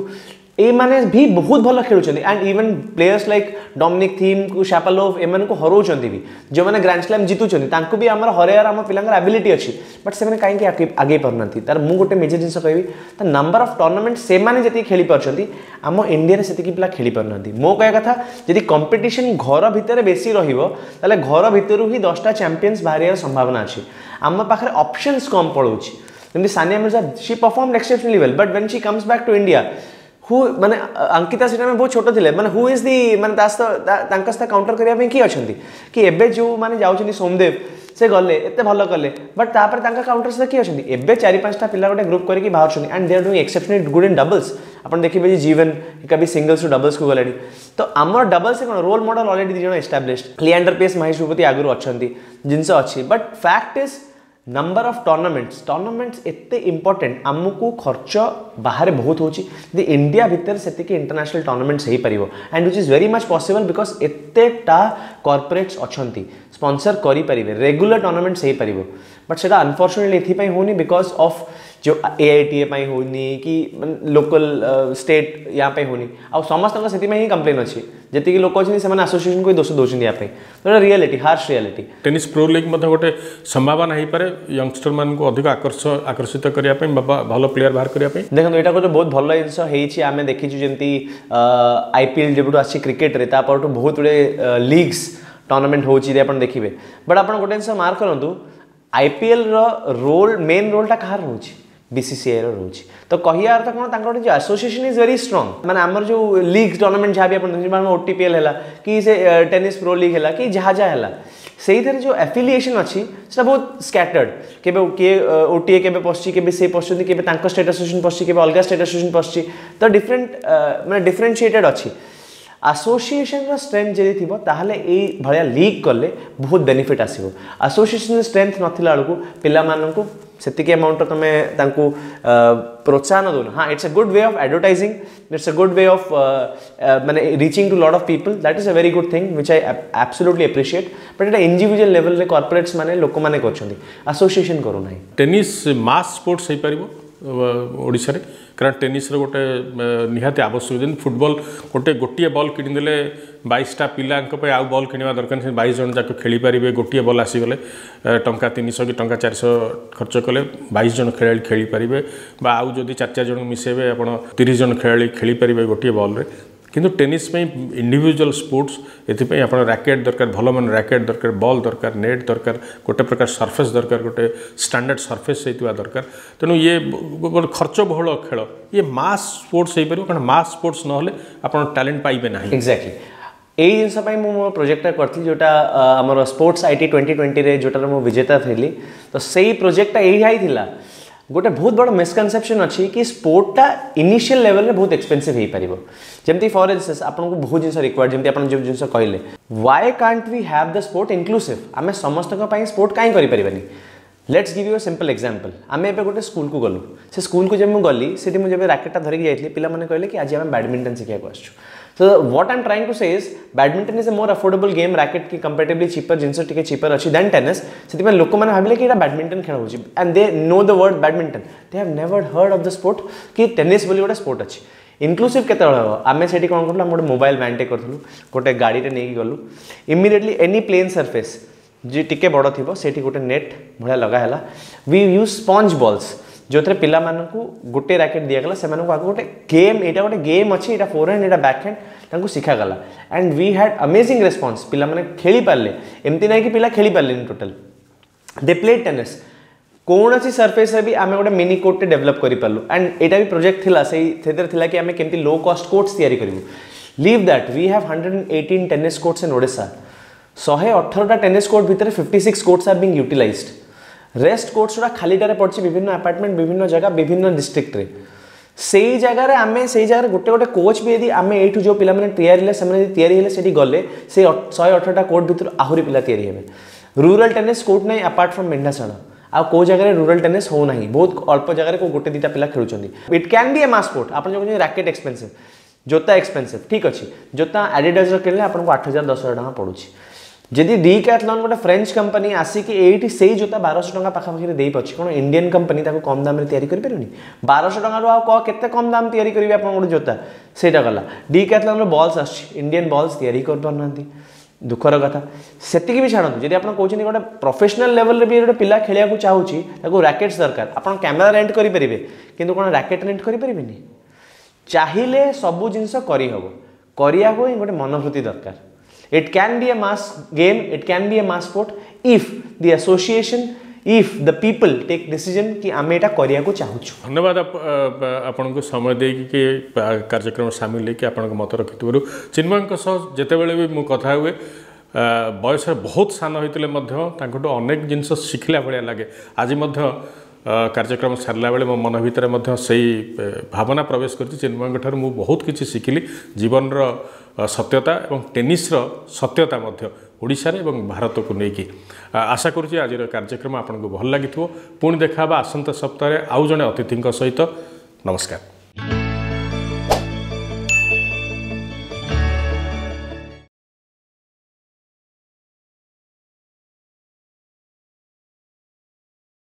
ଏଇମାନେ ବି ବହୁତ ଭଲ ଖେଳୁଛନ୍ତି। And even players like Dominic ଥିମ୍କୁ, ଶାପାଲୋଭ, ଏମାନଙ୍କୁ ହରଉଛନ୍ତି ବି। ଯେଉଁମାନେ ଗ୍ରାଣ୍ଡ ସ୍ଲାମ୍ ଜିତୁଛନ୍ତି ତାଙ୍କୁ ବି ଆମର ହରାଇବାର ଆମ ପିଲାଙ୍କର ଆବିଲିଟି ଅଛି। ବଟ୍ ସେମାନେ କାହିଁକି ଆଗେଇ ପାରୁନାହାନ୍ତି? ତାର ମୁଁ ଗୋଟେ ମେଜର ଜିନିଷ କହିବି, ତା ନମ୍ବର ଅଫ୍ ଟୁର୍ଣ୍ଣାମେଣ୍ଟ ସେମାନେ ଯେତିକି ଖେଳି ପାରୁଛନ୍ତି, ଆମ ଇଣ୍ଡିଆରେ ସେତିକି ପିଲା ଖେଳି ପାରୁନାହାନ୍ତି। ମୋ କହିବା କଥା, ଯଦି କମ୍ପିଟିସନ୍ ଘର ଭିତରେ ବେଶୀ ରହିବ, ତାହେଲେ ଘର ଭିତରୁ ହିଁ 10ଟା ଚାମ୍ପିୟନ୍ସ ବାହାରିବାର ସମ୍ଭାବନା ଅଛି। ଆମ ପାଖରେ ଅପସନ୍ସ କମ୍ ପଳାଉଛି। ଯେମିତି Sania Mirza, she perform exceptionally well, but when she comes back to India, who ମାନେ ଅଙ୍କିତା ସେଟା ଆମେ ବହୁତ ଛୋଟ ଥିଲେ, ମାନେ who is the ମାନେ ତା ସହିତ ତାଙ୍କ ସହିତ କାଉଣ୍ଟର କରିବା ପାଇଁ କିଏ ଅଛନ୍ତି? କି ଏବେ ଯେଉଁମାନେ ଯାଉଛନ୍ତି, ସୋମଦେବ ସେ ଗଲେ, ଏତେ ଭଲ କଲେ, ବଟ୍ ତାପରେ ତାଙ୍କ କାଉଣ୍ଟର ସହିତ କିଏ ଅଛନ୍ତି? ଏବେ ଚାରି ପାଞ୍ଚଟା ପିଲା ଗୋଟେ ଗ୍ରୁପ୍ କରିକି ବାହାରୁଛନ୍ତି and they are doing exceptionally good in doubles। ଆପଣ ଦେଖିବେ ଯେ ଜୀବନ ଏକା ବି ସିଙ୍ଗଲ୍ସରୁ ଡବଲ୍ସକୁ ଗଲେଣି। ତ ଆମର ଡବଲ୍ସ କ'ଣ ରୋଲ୍ ମଡେଲ୍ ଅଲରେଡ଼ି ଦୁଇ ଜଣ ଏଷ୍ଟାବ୍ଲିଶ୍, ଲିଆଣ୍ଡର ପେସ୍, ମହେଶ ଭୂପତି ଆଗରୁ ଅଛନ୍ତି, ଜିନିଷ ଅଛି। But fact is number of tournaments। Tournaments ଏତେ ଇମ୍ପର୍ଟାଣ୍ଟ, ଆମକୁ ଖର୍ଚ୍ଚ ବାହାରେ ବହୁତ ହେଉଛି। ଯଦି ଇଣ୍ଡିଆ ଭିତରେ ସେତିକି ଇଣ୍ଟରନ୍ୟାସନାଲ୍ ଟୁର୍ଣ୍ଣାମେଣ୍ଟସ୍ ହେଇପାରିବ, and which is very much possible because ଏତେଟା କର୍ପୋରେଟ୍ସ ଅଛନ୍ତି, ସ୍ପନ୍ସର କରିପାରିବେ, ରେଗୁଲାର ଟୁର୍ଣ୍ଣାମେଣ୍ଟସ୍ ହେଇପାରିବ। ବଟ୍ ସେଇଟା ଅନଫର୍ଚୁନେଟଲି ଏଥିପାଇଁ ହେଉନି because of ଯେଉଁ ଏଆଇଟିଏ ପାଇଁ ହେଉନି କି ଲୋକାଲ ଷ୍ଟେଟ୍ ୟା ପାଇଁ ହେଉନି। ଆଉ ସମସ୍ତଙ୍କ ସେଥିପାଇଁ ହିଁ କମ୍ପ୍ଲେନ୍ ଅଛି। ଯେତିକି ଲୋକ ଅଛନ୍ତି ସେମାନେ ଆସୋସିଏସନକୁ ହିଁ ଦୋଷ ଦେଉଛନ୍ତି ୟା ପାଇଁ। ତ ଏଇଟା reality, harsh reality. Tennis pro league ମଧ୍ୟ ଗୋଟେ ସମ୍ଭାବନା ହେଇପାରେ ୟଙ୍ଗଷ୍ଟରମାନଙ୍କୁ ଅଧିକ ଆକର୍ଷିତ କରିବା ପାଇଁ ବା ଭଲ ପ୍ଲେୟାର ବାହାର କରିବା ପାଇଁ? ଦେଖନ୍ତୁ, ଏଇଟା ଗୋଟେ ବହୁତ ଭଲ ଜିନିଷ ହେଇଛି। ଆମେ ଦେଖିଛୁ ଯେମିତି ଆଇପିଏଲ୍ ଯେବେଠୁ ଆସିଛି କ୍ରିକେଟରେ, ତା ପରଠୁ ବହୁତ ଗୁଡ଼ିଏ ଲିଗ୍ସ ଟୁର୍ଣ୍ଣାମେଣ୍ଟ ହେଉଛି ଯଦି ଆପଣ ଦେଖିବେ। ବଟ୍ ଆପଣ ଗୋଟେ ଜିନିଷ ମାର୍କ କରନ୍ତୁ, ଆଇପିଏଲ୍ର ରୋଲ୍, ମେନ୍ ରୋଲ୍ଟା କାହାର ରହୁଛି? ବିସିସିଆଇର ରହୁଛି। ତ କହିବା ଅର୍ଥ କ'ଣ, ତାଙ୍କର ଗୋଟେ ଯେଉଁ ଆସୋସିଏସନ୍ is very strong. ମାନେ ଆମର ଯେଉଁ ଲିଗ୍ ଟୁର୍ଣ୍ଣାମେଣ୍ଟ ଯାହା ବି ଆପଣ ଦେଖୁଛନ୍ତି, ମାନେ ଓଟିପିଏଲ୍ ହେଲା କି ସେ ଟେନିସ୍ ପ୍ରୋ ଲିଗ୍ ହେଲା କି ଯାହା ଯାହା ହେଲା, ସେଇଥିରେ ଯେଉଁ ଆଫିଲିଏସନ୍ ଅଛି ସେଟା ବହୁତ ସ୍କାଟର୍ଡ। କେବେ କିଏ ଓଟିଏ କେବେ ପଶୁଛି, କେବେ ସେ ପଶୁଛନ୍ତି, କେବେ ତାଙ୍କ ଷ୍ଟେଟ୍ ଆସୋସିଏସନ୍ ପଶୁଛି, କେବେ ଅଲଗା ଷ୍ଟେଟ୍ ଆସୋସିଏସନ୍ ପଶୁଛି। ତ ଡିଫରେଣ୍ଟ ମାନେ ଡିଫରେନ୍ସିଏଟେଡ୍ ଅଛି। ଆସୋସିଏସନର ଷ୍ଟ୍ରେନ୍ଥ ଯଦି ଥିବ, ତାହେଲେ ଏଇ ଭଳିଆ ଲିଗ୍ କଲେ ବହୁତ ବେନିଫିଟ୍ ଆସିବ। ଆସୋସିଏସନର ଷ୍ଟ୍ରେନ୍ଥ ନଥିଲା ବେଳକୁ ପିଲାମାନଙ୍କୁ ସେତିକି ଆମାଉଣ୍ଟର ତୁମେ ତାଙ୍କୁ ପ୍ରୋତ୍ସାହନ ଦେଉନ। ହଁ, it's a good way of advertising, it's a good way of ମାନେ reaching to lot of people. That is a very good thing which I absolutely appreciate, but ଏଇଟା ଇଣ୍ଡିଭିଜୁଆଲ ଲେଭେଲରେ କର୍ପୋରେଟ୍ସ ମାନେ ଲୋକମାନେ କରୁଛନ୍ତି, ଆସୋସିଏସନ୍ କରୁନାହିଁ। ଟେନିସ୍ ମାସ୍ sports ହେଇପାରିବ ଓଡ଼ିଶାରେ? କାରଣ ଟେନିସ୍ର ଗୋଟେ ନିହାତି ଆବଶ୍ୟକ। ଯେମିତି ଫୁଟବଲ ଗୋଟିଏ ବଲ୍ କିଣିଦେଲେ 22ଟା ପିଲାଙ୍କ ପାଇଁ ଆଉ ବଲ୍ କିଣିବା ଦରକାର ନାହିଁ, 22 ଜଣ ଯାକ ଖେଳିପାରିବେ। ଗୋଟିଏ ବଲ୍ ଆସିଗଲେ ଟଙ୍କା 300 କି ଟଙ୍କା 400 ଖର୍ଚ୍ଚ କଲେ 22 ଜଣ ଖେଳାଳି ଖେଳିପାରିବେ, ବା ଆଉ ଯଦି ଚାରି ଚାରି ଜଣଙ୍କୁ ମିଶାଇବେ, ଆପଣ 30 ଜଣ ଖେଳାଳି ଖେଳିପାରିବେ ଗୋଟିଏ ବଲ୍ରେ। କିନ୍ତୁ ଟେନିସ୍ ପାଇଁ ଇଣ୍ଡିଭିଜୁଆଲ ସ୍ପୋର୍ଟସ୍, ଏଥିପାଇଁ ଆପଣ ରାକେଟ୍ ଦରକାର, ଭଲ ମାନ ରାକେଟ୍ ଦରକାର, ବଲ୍ ଦରକାର, ନେଟ୍ ଦରକାର, ଗୋଟେ ପ୍ରକାର ସର୍ଫେସ୍ ଦରକାର, ଗୋଟେ ଷ୍ଟାଣ୍ଡାର୍ଡ଼ ସର୍ଫେସ୍ ହେଇଥିବା ଦରକାର। ତେଣୁ ଇଏ ଗୋଟେ ଖର୍ଚ୍ଚ ବହୁଳ ଖେଳ। ଇଏ ମାସ୍ ସ୍ପୋର୍ଟସ୍ ହେଇପାରିବ? କାରଣ ମାସ୍ ସ୍ପୋର୍ଟସ୍ ନହେଲେ ଆପଣ ଟ୍ୟାଲେଣ୍ଟ ପାଇବେ ନାହିଁ। ଏକ୍ଜାକ୍ଟଲି, ଏଇ ଜିନିଷ ପାଇଁ ମୁଁ ମୋ ପ୍ରୋଜେକ୍ଟଟା କରିଥିଲି, ଯେଉଁଟା ଆମର ସ୍ପୋର୍ଟସ୍ IT 2020ରେ ଯେଉଁଟାରେ ମୁଁ ବିଜେତା ଥିଲି। ତ ସେଇ ପ୍ରୋଜେକ୍ଟଟା ଏଇଆ ହିଁ ଥିଲା। ଗୋଟେ ବହୁତ ବଡ଼ ମିସକନସେପସନ୍ ଅଛି କି ସ୍ପୋର୍ଟଟା ଇନିସିଆଲ ଲେଭେଲରେ ବହୁତ ଏକ୍ସପେନ୍ସିଭ୍ ହେଇପାରିବ। ଯେମିତି ଫର୍ ଇନଷ୍ଟାନ୍ସ ଆପଣଙ୍କୁ ବହୁତ ଜିନିଷ ରିକ୍ୱାର୍ଡ, ଯେମିତି ଆପଣ ଯେଉଁ ଜିନିଷ କହିଲେ, Y କାଣ୍ଟ we have the sport inclusive? ଆମେ ସମସ୍ତଙ୍କ ପାଇଁ ସ୍ପୋର୍ଟ କାହିଁ କରିପାରିବାନି? Let's give you a simple example. ଆମେ ଏବେ ଗୋଟେ ସ୍କୁଲକୁ ଗଲୁ। ସେ ସ୍କୁଲକୁ ଯେବେ ମୁଁ ଗଲି, ସେଠି ମୁଁ ଯେବେ ରାକେଟଟା ଧରିକି ଯାଇଥିଲି, ପିଲାମାନେ କହିଲେ କି ଆଜି ଆମେ ବ୍ୟାଡମିଣ୍ଟନ ଶିଖିବାକୁ ଆସିଛୁ। So what I'm trying to say is badminton is a more affordable game, racket କି comparatively cheaper, ଜିନିଷ ଟିକେ cheaper ଅଛି than tennis। ସେଥିପାଇଁ ଲୋକମାନେ ଭାବିଲେ କି ଏଇଟା ବ୍ୟାଡମିଣ୍ଟନ ଖେଳ ହେଉଛି, and they know the word badminton, they have never heard of the sport କି ଟେନିସ୍ ବୋଲି ଗୋଟେ ସ୍ପୋର୍ଟ ଅଛି। ଇନକ୍ଲୁସିଭ୍ କେତେବେଳେ ହେବ? ଆମେ ସେଠି କ'ଣ କରୁଥିଲୁ? ଆମେ ଗୋଟେ ମୋବାଇଲ ଭ୍ୟାନ୍ଟେ କରିଥିଲୁ, ଗୋଟେ ଗାଡ଼ିଟେ ନେଇକି ଗଲୁ। ଇମିଡ଼ିଏଟଲି ଏନି ପ୍ଲେନ୍ ସର୍ଫେସ୍ ଯେ ଟିକେ ବଡ଼ ଥିବ, ସେଇଠି ଗୋଟେ ନେଟ୍ ଭଳିଆ ଲଗା ହେଲା। We use sponge balls, ଯେଉଁଥିରେ ପିଲାମାନଙ୍କୁ ଗୋଟେ ରାକେଟ୍ ଦିଆଗଲା। ସେମାନଙ୍କୁ ଆଗ ଗୋଟେ ଗେମ୍, ଏଇଟା ଗୋଟେ ଗେମ୍ ଅଛି, ଏଇଟା ଫୋର୍ ହ୍ୟାଣ୍ଡ, ଏଇଟା ବ୍ୟାକ୍ ହ୍ୟାଣ୍ଡ, ତାଙ୍କୁ ଶିଖାଗଲା and we had amazing response. ପିଲାମାନେ ଖେଳିପାରିଲେ। ଏମିତି ନାହିଁ କି ପିଲା ଖେଳିପାରିଲେନି ଟୋଟାଲ୍। They play tennis. କୌଣସି ସର୍ଫେସ୍ରେ ବି ଆମେ ଗୋଟେ ମିନି କୋର୍ଟଟେ ଡେଭଲପ୍ କରିପାରିଲୁ। ଆଣ୍ଡ ଏଇଟା ବି ପ୍ରୋଜେକ୍ଟ ଥିଲା, ସେଥିରେ ଥିଲା କି ଆମେ କେମିତି ଲୋ କଷ୍ଟ କୋର୍ଟସ୍ ତିଆରି କରିବୁ। Leave that, we have 118 tennis courts in Odisha. 118ଟା tennis court ଭିତରେ 56 courts are being utilized. Rest courts ଗୁଡ଼ା ଖାଲିଟାରେ ପଡ଼ିଛି ବିଭିନ୍ନ ଆପାର୍ଟମେଣ୍ଟ, ବିଭିନ୍ନ ଜାଗା, ବିଭିନ୍ନ ଡିଷ୍ଟ୍ରିକ୍ଟରେ। ସେଇ ଜାଗାରେ ଆମେ ସେଇ ଜାଗାରେ ଗୋଟେ ଗୋଟେ କୋଚ୍ ବି ଯଦି ଆମେ ଏଇଠୁ ଯେଉଁ ପିଲାମାନେ ତିଆରି ହେଲେ, ସେମାନେ ଯଦି ତିଆରି ହେଲେ ସେଠି ଗଲେ, ସେଇ 118ଟା କୋର୍ଟ ଭିତରୁ ଆହୁରି ପିଲା ତିଆରି ହେବେ। ରୁରାଲ ଟେନିସ୍ କୋର୍ଟ ନାହିଁ। ଆପାର୍ଟ ଫ୍ରମ୍ ମେଣ୍ଢାଶାଳ ଆଉ କେଉଁ ଜାଗାରେ ରୁରାଲ ଟେନିସ୍ ହେଉନାହିଁ। ବହୁତ ଅଳ୍ପ ଜାଗାରେ କେଉଁ ଗୋଟେ ଦୁଇଟା ପିଲା ଖେଳୁଛନ୍ତି। It can be a mass sport. ଆପଣ ଯେଉଁ କହୁଛନ୍ତି ରାକେଟ୍ ଏକ୍ସପେନ୍ସିଭ୍, ଜୋତା ଏକ୍ସପେନ୍ସିଭ୍, ଠିକ୍ ଅଛି। ଜୋତା ଆଡ଼ିଡାସର କିଣିଲେ ଆପଣଙ୍କୁ 8000, 10,000 ଟଙ୍କା ପଡ଼ୁଛି। ଯଦି ଡିକ୍ୟାଥଲନ୍ ଗୋଟେ ଫ୍ରେଞ୍ଚ କମ୍ପାନୀ ଆସିକି ଏଇଠି ସେଇ ଜୋତା 1200 ଟଙ୍କା ପାଖାପାଖିରେ ଦେଇପାରୁଛି, କ'ଣ ଇଣ୍ଡିଆନ୍ କମ୍ପାନୀ ତାକୁ କମ୍ ଦାମରେ ତିଆରି କରିପାରିବନି? 1200 ଟଙ୍କାରୁ ଆଉ କେତେ କମ୍ ଦାମ ତିଆରି କରିବେ ଆପଣ ଗୋଟେ ଜୋତା? ସେଇଟା ଗଲା। ଡିକ୍ୟାଥଲନ୍ର ବଲ୍ସ ଆସୁଛି, ଇଣ୍ଡିଆନ୍ ବଲ୍ସ ତିଆରି କରିପାରୁନାହାନ୍ତି, ଦୁଃଖର କଥା। ସେତିକି ବି ଛାଡ଼ନ୍ତୁ, ଯଦି ଆପଣ କହୁଛନ୍ତି ଗୋଟେ ପ୍ରଫେସନାଲ ଲେଭେଲରେ ବି ଗୋଟେ ପିଲା ଖେଳିବାକୁ ଚାହୁଁଛି, ତାକୁ ରାକେଟ୍ସ ଦରକାର। ଆପଣ କ୍ୟାମେରା ରେଣ୍ଟ କରିପାରିବେ, କିନ୍ତୁ କ'ଣ ରାକେଟ୍ ରେଣ୍ଟ କରିପାରିବେନି? ଚାହିଁଲେ ସବୁ ଜିନିଷ କରିହେବ, କରିବାକୁ ହିଁ ଗୋଟେ ମନୋବୃତ୍ତି ଦରକାର। It can be a mass game, it can be a mass sport if the association, if the people take decision କି ଆମେ ଏଇଟା କରିବାକୁ ଚାହୁଁଛୁ। ଧନ୍ୟବାଦ ଆପଣଙ୍କୁ ସମୟ ଦେଇକି କି କାର୍ଯ୍ୟକ୍ରମ ସାମିଲ ହେଇକି ଆପଣଙ୍କ ମତ ରଖିଥିବାରୁ। ଚିନ୍ମୟଙ୍କ ସହ ଯେତେବେଳେ ବି ମୁଁ କଥା ହୁଏ, ବୟସରେ ବହୁତ ସାନ ହୋଇଥିଲେ ମଧ୍ୟ ତାଙ୍କଠୁ ଅନେକ ଜିନିଷ ଶିଖିଲା ଭଳିଆ ଲାଗେ। ଆଜି ମଧ୍ୟ କାର୍ଯ୍ୟକ୍ରମ ସାରିଲା ବେଳେ ମୋ ମନ ଭିତରେ ମଧ୍ୟ ସେଇ ଭାବନା ପ୍ରବେଶ କରିଛି। ଚିନ୍ମୟଙ୍କ ଠାରୁ ମୁଁ ବହୁତ କିଛି ଶିଖିଲି, ଜୀବନର ସତ୍ୟତା ଏବଂ ଟେନିସ୍ର ସତ୍ୟତା ମଧ୍ୟ, ଓଡ଼ିଶାରେ ଏବଂ ଭାରତକୁ ନେଇକି। ଆଶା କରୁଛି ଆଜିର କାର୍ଯ୍ୟକ୍ରମ ଆପଣଙ୍କୁ ଭଲ ଲାଗିଥିବ। ପୁଣି ଦେଖା ହେବା ଆସନ୍ତା ସପ୍ତାହରେ ଆଉ ଜଣେ ଅତିଥିଙ୍କ ସହିତ। ନମସ୍କାର।